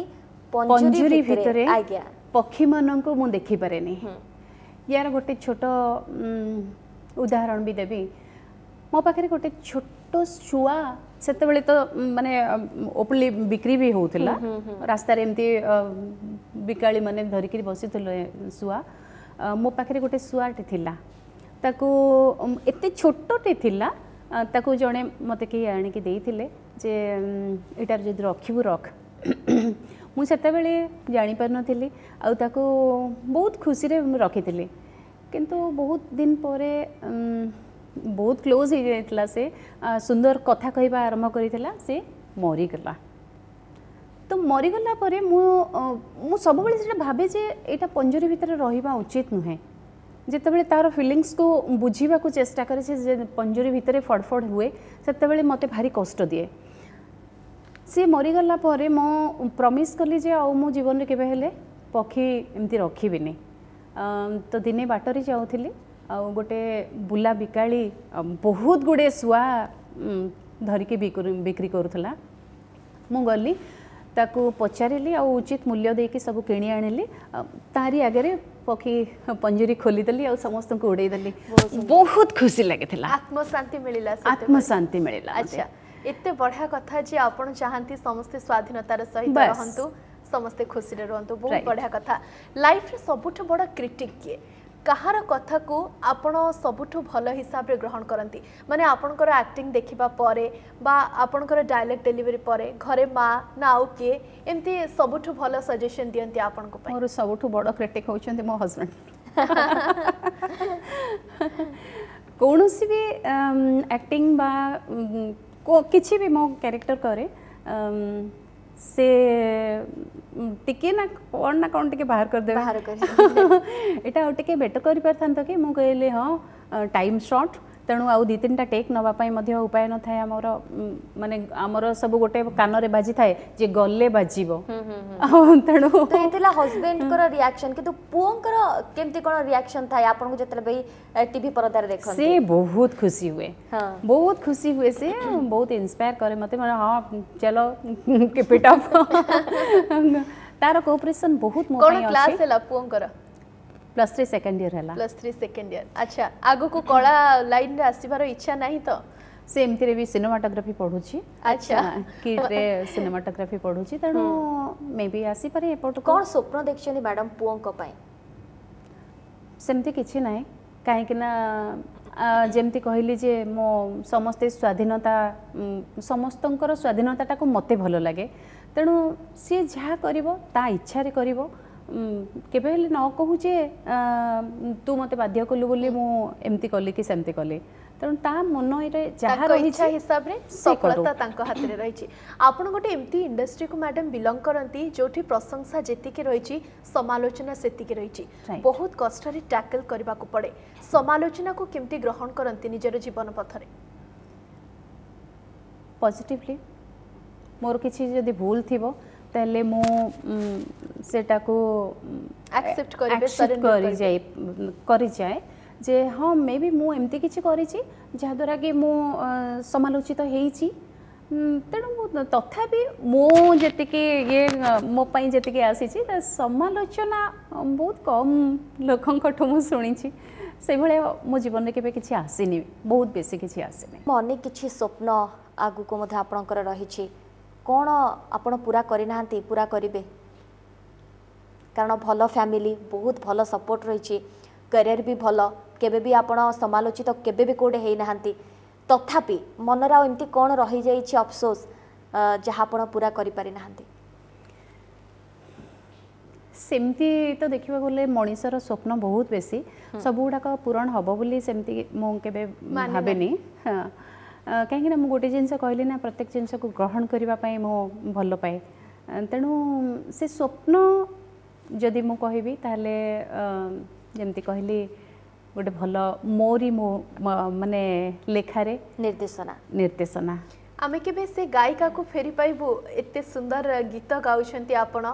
ପଞ୍ଜୁରୀ ଭିତରେ ଆଜ୍ଞା ପକ୍ଷୀମାନଙ୍କୁ ମୁଁ ଦେଖିପାରେନି ୟାର ଗୋଟେ ଛୋଟ ଉଦାହରଣ ବି ଦେବି ମୋ ପାଖରେ ଗୋଟେ ଛୋଟ ଶୁଆ ସେତେବେଳେ ତ ମାନେ ଓପନଲି ବିକ୍ରି ବି ହେଉଥିଲା ରାସ୍ତାରେ ଏମିତି ବିକାଳି ମାନେ ଧରିକିରି ବସିଥିଲେ ଶୁଆ ମୋ ପାଖରେ ଗୋଟେ ଶୁଆଟେ ଥିଲା ତାକୁ ଏତେ ଛୋଟଟେ ଥିଲା ତାକୁ ଜଣେ ମୋତେ କେହି ଆଣିକି ଦେଇଥିଲେ ଯେ ଏଇଟାର ଯଦି ରଖିବୁ ରଖ ମୁଁ ସେତେବେଳେ ଜାଣିପାରୁନଥିଲି ଆଉ ତାକୁ ବହୁତ ଖୁସିରେ ମୁଁ ରଖିଥିଲି କିନ୍ତୁ ବହୁତ ଦିନ ପରେ ବହୁତ କ୍ଲୋଜ୍ ହେଇଯାଇଥିଲା ସେ ସୁନ୍ଦର କଥା କହିବା ଆରମ୍ଭ କରିଥିଲା ସେ ମରିଗଲା ତ ମରିଗଲା ପରେ ମୁଁ ମୁଁ ସବୁବେଳେ ସେଇଟା ଭାବେ ଯେ ଏଇଟା ପଞ୍ଜୁରୀ ଭିତରେ ରହିବା ଉଚିତ ନୁହେଁ ଯେତେବେଳେ ତାର ଫିଲିଙ୍ଗସକୁ ବୁଝିବାକୁ ଚେଷ୍ଟା କରେ ସେ ପଞ୍ଜୁରୀ ଭିତରେ ଫଡ଼ଫଡ଼ ହୁଏ ସେତେବେଳେ ମୋତେ ଭାରି କଷ୍ଟ ଦିଏ ସିଏ ମରିଗଲା ପରେ ମୁଁ ପ୍ରମିସ୍ କଲି ଯେ ଆଉ ମୁଁ ଜୀବନରେ କେବେ ହେଲେ ପକ୍ଷୀ ଏମିତି ରଖିବିନି ତ ଦିନେ ବାଟରେ ଯାଉଥିଲି ଆଉ ଗୋଟେ ବୁଲା ବିକାଳି ବହୁତ ଗୁଡ଼ିଏ ଶୁଆ ଧରିକି ବିକ୍ରି କରୁଥିଲା ମୁଁ ଗଲି ତାକୁ ପଚାରିଲି ଆଉ ଉଚିତ ମୂଲ୍ୟ ଦେଇକି ସବୁ କିଣି ଆଣିଲି ତାରି ଆଗରେ ପକ୍ଷୀ ପଞ୍ଜୁରୀ ଖୋଲିଦେଲି ଆଉ ସମସ୍ତଙ୍କୁ ଉଡ଼େଇଦେଲି ବହୁତ ଖୁସି ଲାଗିଥିଲା ଆତ୍ମଶାନ୍ତି ମିଳିଲା ଆତ୍ମଶାନ୍ତି ମିଳିଲା ଆଚ୍ଛା ଏତେ ବଢ଼ିଆ କଥା ଯେ ଆପଣ ଚାହାନ୍ତି ସମସ୍ତେ ସ୍ୱାଧୀନତାର ସହିତ ରହନ୍ତୁ ସମସ୍ତେ ଖୁସିରେ ରୁହନ୍ତୁ ବହୁତ ବଢ଼ିଆ କଥା ଲାଇଫରେ ସବୁଠୁ ବଡ଼ କ୍ରିଟିକ୍ କିଏ କାହାର କଥାକୁ ଆପଣ ସବୁଠୁ ଭଲ ହିସାବରେ ଗ୍ରହଣ କରନ୍ତି ମାନେ ଆପଣଙ୍କର ଆକ୍ଟିଂ ଦେଖିବା ପରେ ବା ଆପଣଙ୍କର ଡାଇଲଗ୍ ଡେଲିଭରି ପରେ ଘରେ ମା ନା ଆଉ କିଏ ଏମିତି ସବୁଠୁ ଭଲ ସଜେସନ୍ ଦିଅନ୍ତି ଆପଣଙ୍କ ପାଇଁ ମୋର ସବୁଠୁ ବଡ଼ କ୍ରିଟିକ୍ ହେଉଛନ୍ତି ମୋ ହଜବେଣ୍ଡ କୌଣସି ବି ଆକ୍ଟିଂ ବା କିଛି ବି ମୋ କ୍ୟାରେକ୍ଟର କରେ ସେ ଟିକେ ନା କ'ଣ ନା କ'ଣ ଟିକେ ବାହାର କରିଦେବେ ବାହାର କରି ଏଇଟା ଆଉ ଟିକେ ବେଟର କରିପାରିଥାନ୍ତ କି ମୁଁ କହିଲି ହଁ ଟାଇମ୍ ସର୍ଟ ତେଣୁ ଆଉ ଦୁଇ ତିନିଟା ଟେକ୍ ନେବା ପାଇଁ ମଧ୍ୟ ଉପାୟ ନଥାଏ ଆମର ମାନେ ଆମର ସବୁ ଗୋଟେ କାନରେ ବାଜିଥାଏ ଯେ ଗଲେ ବାଜିବ ତେଣୁ ତ ଏ ଥିଲା ହଜବେଣ୍ଡଙ୍କର ରିଆକ୍ସନ କିନ୍ତୁ ପୁଅଙ୍କର କେମିତି କ'ଣ ରିଆକ୍ସନ ଥାଏ ଆପଣଙ୍କୁ ଯେତେବେଳେ ବି ଟିଭି ପରଦାରେ ଦେଖନ୍ତି ସେ ବହୁତ ଖୁସି ହୁଏ ବହୁତ ଖୁସି ହୁଏ ସେ ବହୁତ ଇନ୍ସପାୟାର କରେ ମୋତେ ମାନେ ହଁ ଚलो କିପ୍ ଇଟ୍ ଅପ୍ ତାର କୋଅପରେସନ ବହୁତ ମୋ କ'ଣ ପାଇଁ କ୍ଲାସ୍ ଅଛି ହେଲା ପୁଅଙ୍କର ପ୍ଲସ୍ ଥ୍ରୀ ସେକେଣ୍ଡ ଇୟର ହେଲା ପ୍ଲସ୍ ଥ୍ରୀ ସେକେଣ୍ଡ ଇୟର ଆଚ୍ଛା ଆଗକୁ କଳା ଲାଇନରେ ଆସିବାର ଇଚ୍ଛା ନାହିଁ ତ ସେ ଏମିତିରେ ବି ସିନେମାଟୋଗ୍ରାଫି ପଢୁଛି ଆଚ୍ଛା କିଟ୍ରେ ସିନେମାଟୋଗ୍ରାଫି ପଢୁଛି ତେଣୁ ମେ ବି ଆସିପାରେ ଏପଟକୁ କ'ଣ ସ୍ୱପ୍ନ ଦେଖିଛନ୍ତି ମ୍ୟାଡ଼ାମ ପୁଅଙ୍କ ପାଇଁ ସେମିତି କିଛି ନାହିଁ କାହିଁକି ନା ଯେମିତି କହିଲି ଯେ ମୋ ସମସ୍ତେ ସ୍ୱାଧୀନତା ସମସ୍ତଙ୍କର ସ୍ୱାଧୀନତାଟାକୁ ମୋତେ ଭଲ ଲାଗେ ତେଣୁ ସିଏ ଯାହା କରିବ ତା ଇଚ୍ଛାରେ କରିବ କେବେ ହେଲେ ନ କହୁ ଯେ ତୁ ମୋତେ ବାଧ୍ୟ କଲୁ ବୋଲି ମୁଁ ଏମିତି କଲି କି ସେମିତି କଲି ତେଣୁ ତା ମନରେ ଯାହା ତାଙ୍କ ରହିଛି ଇଚ୍ଛା ହିସାବରେ ସେ କରୁ। ସଫଳତା ତାଙ୍କ ହାତରେ ରହିଛି ଆପଣ ଗୋଟେ ଏମିତି ଇଣ୍ଡଷ୍ଟ୍ରିକୁ ମ୍ୟାଡ଼ାମ ବିଲଙ୍ଗ କରନ୍ତି ଯୋଉଠି ପ୍ରଶଂସା ଯେତିକି ରହିଛି ସମାଲୋଚନା ସେତିକି ରହିଛି Right. ବହୁତ କଷ୍ଟରେ ଟ୍ୟାକଲ କରିବାକୁ ପଡ଼େ ସମାଲୋଚନାକୁ କେମିତି ଗ୍ରହଣ କରନ୍ତି ନିଜର ଜୀବନ ପଥରେ ପଜିଟିଭଲି ମୋର କିଛି ଯଦି ଭୁଲ ଥିବ ତାହେଲେ ମୁଁ ସେଟାକୁ Accept କରିବେ, accept surrender କରିବେ। କରିଯାଏ କରିଯାଏ ଯେ ହଁ ମେ ବି ମୁଁ ଏମିତି କିଛି କରିଛି ଯାହାଦ୍ୱାରା କି ମୁଁ ଅ, ସମାଲୋଚିତ ହେଇଛି ଉଁ, ତେଣୁ ମୁଁ ତଥାପି ମୁଁ ଯେତିକି ଇଏ ଅ, ମୋ ପାଇଁ ଯେତିକି ଆସିଛି ତା ସମାଲୋଚନା ଅ, ବହୁତ କମ୍ ଲୋକଙ୍କଠୁ ମୁଁ ଶୁଣିଛି ସେଇଭଳିଆ ମୋ ଜୀବନରେ କେବେ କିଛି ଆସିନି ବହୁତ ବେଶୀ କିଛି ଆସିନି ଅନେକ କିଛି ସ୍ୱପ୍ନ ଆଗକୁ ମଧ୍ୟ ଆପଣଙ୍କର ରହିଛି କ'ଣ ଆପଣ ପୁରା କରିନାହାନ୍ତି ପୁରା କରିବେ କାରଣ ଭଲ ଫ୍ୟାମିଲି ବହୁତ ଭଲ ସପୋର୍ଟ ରହିଛି କ୍ୟାରିୟର ବି ଭଲ କେବେ ବି ଆପଣ ସମାଲୋଚିତ କେବେ ବି କୋଉଠି ହେଇନାହାନ୍ତି ତଥାପି ମନରେ ଆଉ ଏମିତି କ'ଣ ରହିଯାଇଛି ଅଫସୋସ ଯାହା ଆପଣ ପୁରା କରିପାରିନାହାନ୍ତି ସେମିତି ତ ଦେଖିବାକୁ ଗଲେ ମଣିଷର ସ୍ୱପ୍ନ ବହୁତ ବେଶୀ ସବୁଗୁଡ଼ାକ ପୂରଣ ହେବ ବୋଲି ସେମିତି ମୁଁ କେବେ ଭାବେନି ହଁ କାହିଁକିନା ମୁଁ ଗୋଟେ ଜିନିଷ କହିଲି ନା ପ୍ରତ୍ୟେକ ଜିନିଷକୁ ଗ୍ରହଣ କରିବା ପାଇଁ ମୁଁ ଭଲ ପାଏ ତେଣୁ ସେ ସ୍ୱପ୍ନ ଯଦି ମୁଁ କହିବି ତାହେଲେ ଯେମିତି କହିଲି ଗୋଟେ ଭଲ ମୋରି ମୋ ମାନେ ଲେଖାରେ ନିର୍ଦ୍ଦେଶନା ନିର୍ଦ୍ଦେଶନା ଆମେ କେବେ ସେ ଗାୟିକାକୁ ଫେରି ପାଇବୁ ଏତେ ସୁନ୍ଦର ଗୀତ ଗାଉଛନ୍ତି ଆପଣ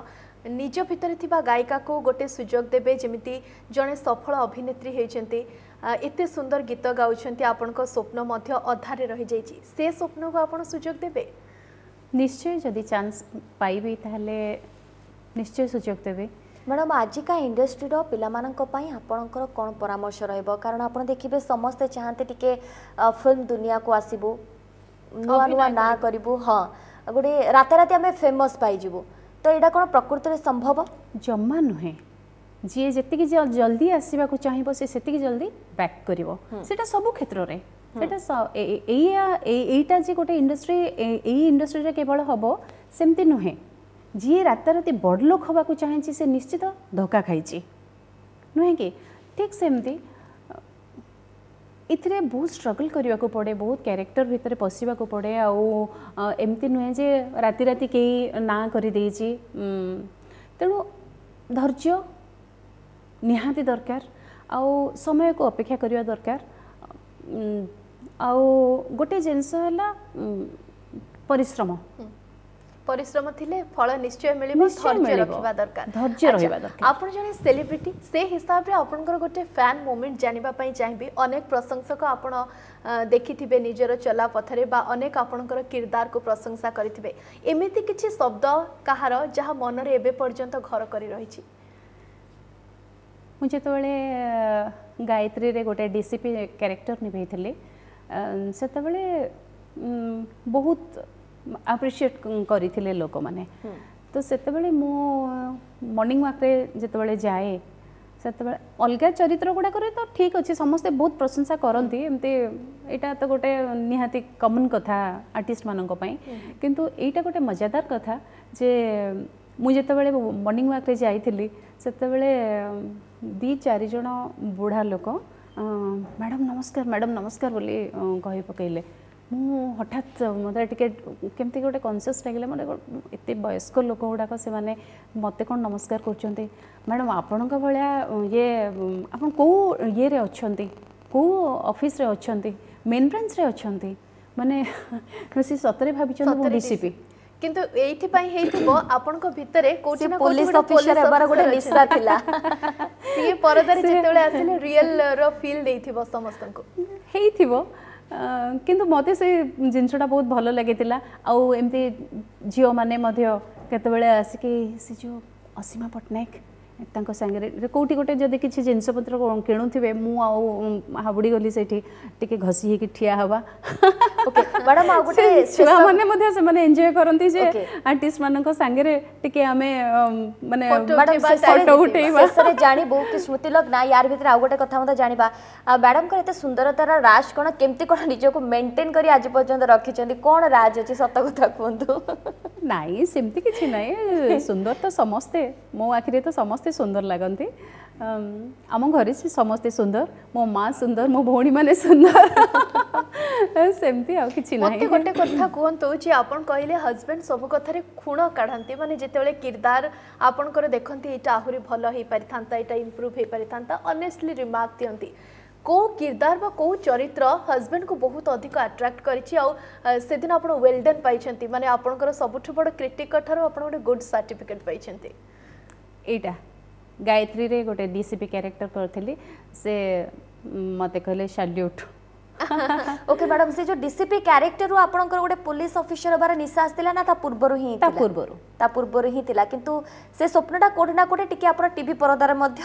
ନିଜ ଭିତରେ ଥିବା ଗାୟିକାକୁ ଗୋଟେ ସୁଯୋଗ ଦେବେ ଯେମିତି ଜଣେ ସଫଳ ଅଭିନେତ୍ରୀ ହେଇଛନ୍ତି ଏତେ ସୁନ୍ଦର ଗୀତ ଗାଉଛନ୍ତି ଆପଣଙ୍କ ସ୍ୱପ୍ନ ମଧ୍ୟ ଅଧାରେ ରହିଯାଇଛି ସେ ସ୍ୱପ୍ନକୁ ଆପଣ ସୁଯୋଗ ଦେବେ ନିଶ୍ଚୟ ଯଦି ଚାନ୍ସ ପାଇବି ତାହେଲେ ନିଶ୍ଚୟ ସୁଯୋଗ ଦେବି ମ୍ୟାଡ଼ାମ୍ ଆଜିକା ଇଣ୍ଡଷ୍ଟ୍ରିର ପିଲାମାନଙ୍କ ପାଇଁ ଆପଣଙ୍କର କ'ଣ ପରାମର୍ଶ ରହିବ କାରଣ ଆପଣ ଦେଖିବେ ସମସ୍ତେ ଚାହାନ୍ତି ଟିକେ ଫିଲ୍ମ ଦୁନିଆକୁ ଆସିବୁ ନୂଆ ନୂଆ ନାଁ କରିବୁ ହଁ ଗୋଟେ ରାତାରାତି ଆମେ ଫେମସ୍ ପାଇଯିବୁ ତ ଏଇଟା କ'ଣ ପ୍ରକୃତରେ ସମ୍ଭବ ଜମା ନୁହେଁ ଯିଏ ଯେତିକି ଜଲ୍ଦି ଆସିବାକୁ ଚାହିଁବ ସେ ସେତିକି ଜଲ୍ଦି ବ୍ୟାକ୍ କରିବ ସେଇଟା ସବୁ କ୍ଷେତ୍ରରେ ସେଇଟା ଏଇଆ ଏଇଟା ଯେ ଗୋଟେ ଇଣ୍ଡଷ୍ଟ୍ରି ଏଇ ଇଣ୍ଡଷ୍ଟ୍ରିରେ କେବଳ ହେବ ସେମିତି ନୁହେଁ ଯିଏ ରାତାରାତି ବଡ଼ ଲୋକ ହେବାକୁ ଚାହିଁଛି ସେ ନିଶ୍ଚିତ ଧୋକା ଖାଇଛି ନୁହେଁ କି ଠିକ୍ ସେମିତି ଏଥିରେ ବହୁତ ଷ୍ଟ୍ରଗଲ୍ କରିବାକୁ ପଡ଼େ ବହୁତ କ୍ୟାରେକ୍ଟର ଭିତରେ ପଶିବାକୁ ପଡ଼େ ଆଉ ଏମିତି ନୁହେଁ ଯେ ରାତି ରାତି କେହି ନାଁ କରିଦେଇଛି ତେଣୁ ଧୈର୍ଯ୍ୟ ନିହାତି ଦରକାର ଆଉ ସମୟକୁ ଅପେକ୍ଷା କରିବା ଦରକାର ଆଉ ଗୋଟେ ଜିନିଷ ହେଲା ପରିଶ୍ରମ ପରିଶ୍ରମ ଥିଲେ ଫଳ ନିଶ୍ଚୟ ମିଳିବ ଧୈର୍ଯ୍ୟ ରଖିବା ଦରକାର ଧୈର୍ଯ୍ୟ ରହିବା ଦରକାର ଆପଣ ଜଣେ ସେଲିବ୍ରିଟି ସେ ହିସାବରେ ଆପଣଙ୍କର ଗୋଟେ ଫ୍ୟାନ୍ ମୋମେଣ୍ଟ ଜାଣିବା ପାଇଁ ଚାହିଁବି ଅନେକ ପ୍ରଶଂସକ ଆପଣ ଦେଖିଥିବେ ନିଜର ଚଲା ପଥରେ ବା ଅନେକ ଆପଣଙ୍କର କିରଦାରକୁ ପ୍ରଶଂସା କରିଥିବେ ଏମିତି କିଛି ଶବ୍ଦ କାହାର ଯାହା ମନରେ ଏବେ ପର୍ଯ୍ୟନ୍ତ ଘର କରି ରହିଛି ମୁଁ ଯେତେବେଳେ ଗାୟତ୍ରୀରେ ଗୋଟେ ଡିସିପି କ୍ୟାରେକ୍ଟର ନିଭେଇଥିଲି ସେତେବେଳେ ବହୁତ ଆପ୍ରିସିଏଟ୍ କରିଥିଲେ ଲୋକମାନେ ତ ସେତେବେଳେ ମୁଁ ମର୍ଣ୍ଣିଂ ୱାକ୍ରେ ଯେତେବେଳେ ଯାଏ ସେତେବେଳେ ଅଲଗା ଚରିତ୍ର ଗୁଡ଼ାକରେ ତ ଠିକ୍ ଅଛି ସମସ୍ତେ ବହୁତ ପ୍ରଶଂସା କରନ୍ତି ଏମିତି ଏଇଟା ତ ଗୋଟେ ନିହାତି କମନ୍ କଥା ଆର୍ଟିଷ୍ଟମାନଙ୍କ ପାଇଁ କିନ୍ତୁ ଏଇଟା ଗୋଟେ ମଜାଦାର କଥା ଯେ ମୁଁ ଯେତେବେଳେ ମର୍ଣ୍ଣିଂ ୱାକ୍ରେ ଯାଇଥିଲି ସେତେବେଳେ ଦୁଇ ଚାରିଜଣ ବୁଢ଼ା ଲୋକ ମ୍ୟାଡ଼ାମ୍ ନମସ୍କାର ମ୍ୟାଡ଼ାମ୍ ନମସ୍କାର ବୋଲି କହି ପକାଇଲେ ମୁଁ ହଠାତ୍ ମୋତେ ଟିକେ କେମିତି ଗୋଟେ କନସିୟସ୍ ଲାଗିଲା ମାନେ ଏତେ ବୟସ୍କ ଲୋକ ଗୁଡ଼ାକ ସେମାନେ ମୋତେ କ'ଣ ନମସ୍କାର କରୁଛନ୍ତି ମ୍ୟାଡ଼ାମ୍ ଆପଣଙ୍କ ଭଳିଆ ଇଏ ଆପଣ କେଉଁ ଇଏରେ ଅଛନ୍ତି କେଉଁ ଅଫିସରେ ଅଛନ୍ତି ମେନ୍ ବ୍ରାଞ୍ଚରେ ଅଛନ୍ତି ମାନେ ସେ ସତରେ ଭାବିଛନ୍ତି ମୁଁ ଡିସିପି କିନ୍ତୁ ଏଇଥିପାଇଁ ହେଇଥିବ ଆପଣଙ୍କ ଭିତରେ କୋଉଠି ନା ପୋଲିସ ଅଫିସର ହେବାର ଗୋଟେ ନିଶା ଥିଲା ସିଏ ପରଦାରେ ଯେତେବେଳେ ଆସିଲେ ରିଏଲ ର ଫିଲ୍ ଦେଇଥିବ ସମସ୍ତଙ୍କୁ ହେଇଥିବ କିନ୍ତୁ ମୋତେ ସେ ଜିନିଷଟା ବହୁତ ଭଲ ଲାଗିଥିଲା ଆଉ ଏମିତି ଝିଅମାନେ ମଧ୍ୟ କେତେବେଳେ ଆସିକି ସେ ଯେଉଁ ଅସୀମା ପଟ୍ଟନାୟକ ତାଙ୍କ ସାଙ୍ଗରେ କେଉଁଠି ଗୋଟେ ଯଦି କିଛି ଜିନିଷପତ୍ର କିଣୁଥିବେ ମୁଁ ଆଉ ହାବୁଡ଼ି ଗଲି ସେଇଠି ଟିକେ ଘଷି ହେଇକି ଠିଆ ହେବା ଛୁଆମାନେ ମଧ୍ୟ ସେମାନେ ଏନ୍ଜୟ କରନ୍ତି ଯେ ଆର୍ଟିଷ୍ଟମାନଙ୍କ ସାଙ୍ଗରେ ଟିକେ ଆମେ ମାନେ ଫଟୋ ଉଠେଇବା ଶେଷରେ ଜାଣିବୁ କି ସ୍ମୃତି ଲଗ୍ନା ୟାର ଭିତରେ ଆଉ ଗୋଟେ କଥା ମଧ୍ୟ ଜାଣିବା ମ୍ୟାଡ଼ାମଙ୍କର ଏତେ ସୁନ୍ଦରତାର ରାଜ କ'ଣ କେମିତି କ'ଣ ନିଜକୁ ମେଣ୍ଟେନ୍ କରି ଆଜି ପର୍ଯ୍ୟନ୍ତ ରଖିଛନ୍ତି କ'ଣ ରାଜ ଅଛି ସତ କଥା କୁହନ୍ତୁ ନାଇଁ ସେମିତି କିଛି ନାହିଁ ସୁନ୍ଦର ତ ସମସ୍ତେ ମୋ ଆଖିରେ ତ ସମସ୍ତେ ସୁନ୍ଦର ଲାଗନ୍ତି ଆମ ଘରେ ସେ ସମସ୍ତେ ସୁନ୍ଦର ମୋ ମା ସୁନ୍ଦର ମୋ ଭଉଣୀମାନେ ସୁନ୍ଦର ସେମିତି ଆଉ କିଛି ନାହିଁ ମୋତେ ଗୋଟେ କଥା କୁହନ୍ତୁ ଯେ ଆପଣ କହିଲେ ହଜବେଣ୍ଡ ସବୁ କଥାରେ ଖୁଣ କାଢ଼ନ୍ତି ମାନେ ଯେତେବେଳେ କିରଦାର ଆପଣଙ୍କର ଦେଖନ୍ତି ଏଇଟା ଆହୁରି ଭଲ ହେଇପାରିଥାନ୍ତା ଏଇଟା ଇମ୍ପ୍ରୁଭ୍ ହେଇପାରିଥାନ୍ତା ଅନେଷ୍ଟଲି ରିମାର୍କ ଦିଅନ୍ତି କେଉଁ କିରଦାର ବା କେଉଁ ଚରିତ୍ର ହଜବେଣ୍ଡକୁ ବହୁତ ଅଧିକ ଆଟ୍ରାକ୍ଟ କରିଛି ଆଉ ସେଦିନ ଆପଣ ୱେଲ୍ ଡନ୍ ପାଇଛନ୍ତି ମାନେ ଆପଣଙ୍କର ସବୁଠୁ ବଡ଼ କ୍ରିଟିକ ଠାରୁ ଆପଣ ଗୋଟେ ଗୁଡ୍ ସାର୍ଟିଫିକେଟ୍ ପାଇଛନ୍ତି ଏଇଟା ଗାୟତ୍ରୀରେ ଗୋଟେ ଡିସିପି କ୍ୟାରେକ୍ଟର କରିଥିଲି ସେ ମୋତେ କହିଲେ ସାଲ୍ୟୁଟ୍ ଓକେ ମ୍ୟାଡ଼ାମ୍ ସେ ଯୋଉ ଡିସିପି କ୍ୟାରେକ୍ଟରରୁ ଆପଣଙ୍କର ଗୋଟେ ପୋଲିସ ଅଫିସର ହେବାର ନିଶା ଆସିଥିଲା ନା ତା ପୂର୍ବରୁ ହିଁ ତା ପୂର୍ବରୁ ତା ପୂର୍ବରୁ ହିଁ ଥିଲା କିନ୍ତୁ ସେ ସ୍ୱପ୍ନଟା କୋଉଠି ନା କୋଉଠି ଟିକେ ଆପଣ ଟିଭି ପରଦାରେ ମଧ୍ୟ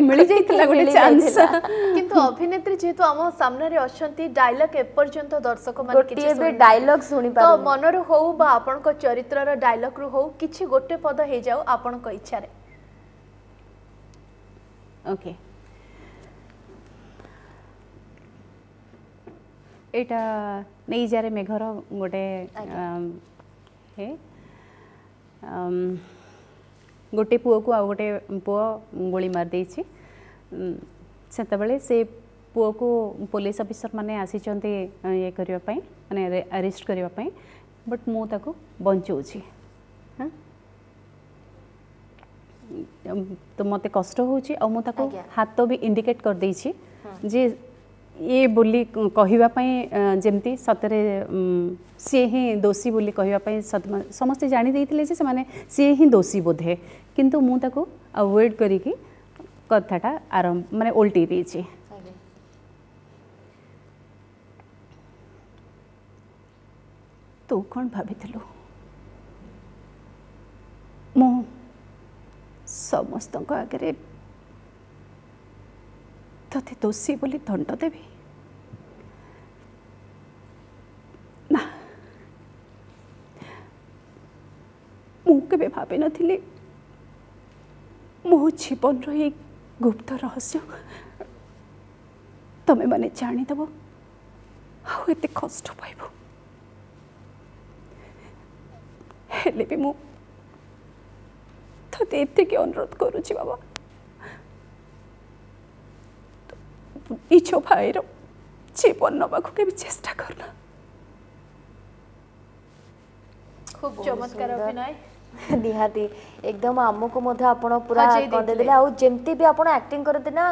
ମିଳିଯାଇଥିଲା ଗୋଟେ ଚାନ୍ସ କିନ୍ତୁ ଅଭିନେତ୍ରୀ ଯେହେତୁ ଆମ ସାମ୍ନାରେ ଅଛନ୍ତି ଡାଇଲଗ ଏପର୍ଯ୍ୟନ୍ତ ଦର୍ଶକମାନେ ଗୋଟିଏ ବି ଡାଇଲଗ ଶୁଣିପାରୁ ତ ମନରୁ ହଉ ବା ଆପଣଙ୍କ ଚରିତ୍ରର ଡାଇଲଗରୁ ହଉ କିଛି ଗୋଟେ ପଦ ହେଇଯାଉ ଆପଣଙ୍କ ଇଚ୍ଛାରେ ଓକେ ଏଇଟା ନେଇଯାରେ ମେଘର ଗୋଟେ ହେ ଗୋଟେ ପୁଅକୁ ଆଉ ଗୋଟେ ପୁଅ ଗୁଳି ମାରିଦେଇଛି। ସେତେବେଳେ ସେ ପୁଅକୁ ପୋଲିସ ଅଫିସର ମାନେ ଆସିଛନ୍ତି ଇଏ କରିବା ପାଇଁ, ମାନେ ଆରେଷ୍ଟ କରିବା ପାଇଁ, ବଟ୍ ମୁଁ ତାକୁ ବଞ୍ଚଉଛି। ହଁ, ତ ମୋତେ କଷ୍ଟ ହେଉଛି ଆଉ ମୁଁ ତାକୁ ହାତ ବି ଇଣ୍ଡିକେଟ୍ କରିଦେଇଛି ଯେ ଇଏ ବୋଲି କହିବା ପାଇଁ, ଯେମିତି ସତରେ ସିଏ ହିଁ ଦୋଷୀ ବୋଲି କହିବା ପାଇଁ। ସମସ୍ତେ ଜାଣି ଦେଇଥିଲେ ଯେ ସେମାନେ ସିଏ ହିଁ ଦୋଷୀ ବୋଧେ, କିନ୍ତୁ ମୁଁ ତାକୁ ଆଭଏଡ଼ କରିକି କଥାଟା ଆରମ୍ଭ ମାନେ ଓଲଟେଇ ଦେଇଛି। ତୁ କ'ଣ ଭାବିଥିଲୁ ମୁଁ ସମସ୍ତଙ୍କ ଆଗରେ ତୋତେ ଦୋଷୀ ବୋଲି ଦଣ୍ଡ ଦେବି? ନା, ମୁଁ କେବେ ଭାବିନଥିଲି ମୋ ଜୀବନର ଏଇ ଗୁପ୍ତ ରହସ୍ୟ ତମେମାନେ ଜାଣିଦେବ ଆଉ ଏତେ କଷ୍ଟ ପାଇବ। ହେଲେ ବି ମୁଁ ତୋତେ ଏତିକି ଅନୁରୋଧ କରୁଛି ବାବା, ନିଜ ଭାଇର ଜୀବନ ନେବାକୁ କେବେ ଚେଷ୍ଟା କରନା। ଖୁବ୍ ଚମତ୍କାର ଅଭିନୟ। ନିହାତି ଏକଦମ ଆମକୁ ମଧ୍ୟ ଆପଣ ପୁରା କନ୍ଦେଇଦେଲେ। ଆଉ ଯେମିତି ବି ଆପଣ ଆକ୍ଟିଂ କରନ୍ତି ନା,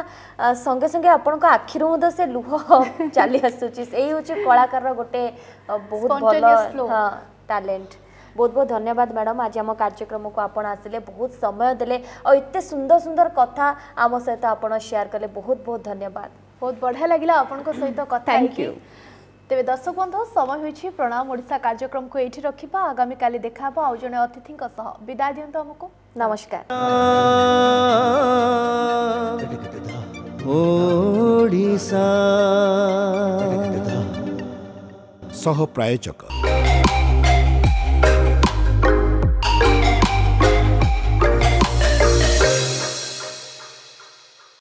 ସଙ୍ଗେ ସଙ୍ଗେ ଆପଣଙ୍କ ଆଖିରୁ ମଧ୍ୟ ସେ ଲୁହ ଚାଲି ଆସୁଛି। ସେଇ ହେଉଛି କଳାକାରର ଗୋଟେ ବହୁତ ଭଲ ଟ୍ୟାଲେଣ୍ଟ। ବହୁତ ବହୁତ ଧନ୍ୟବାଦ ମ୍ୟାଡ଼ାମ୍, ଆଜି ଆମ କାର୍ଯ୍ୟକ୍ରମକୁ ଆପଣ ଆସିଲେ, ବହୁତ ସମୟ ଦେଲେ ଆଉ ଏତେ ସୁନ୍ଦର ସୁନ୍ଦର କଥା ଆମ ସହିତ ଆପଣ ସେୟାର କଲେ। ବହୁତ ବହୁତ ଧନ୍ୟବାଦ। ବହୁତ ବଢ଼ିଆ ଲାଗିଲା ଆପଣଙ୍କ ସହିତ କଥା ହେଇକି। ତେବେ ଦର୍ଶକ ବନ୍ଧୁ, ସମୟ ହୋଇଛି ପ୍ରଣାମ ଓଡ଼ିଶା କାର୍ଯ୍ୟକ୍ରମକୁ ଏଇଠି ରଖିବା। ଆଗାମୀ କାଲି ଦେଖା ହେବ ଆଉ ଜଣେ ଅତିଥିଙ୍କ ସହ। ବିଦାୟ ଦିଅନ୍ତୁ ଆମକୁ। ନମସ୍କାର। ଓଡ଼ିଶା ସହ ପ୍ରାୟୋଜକ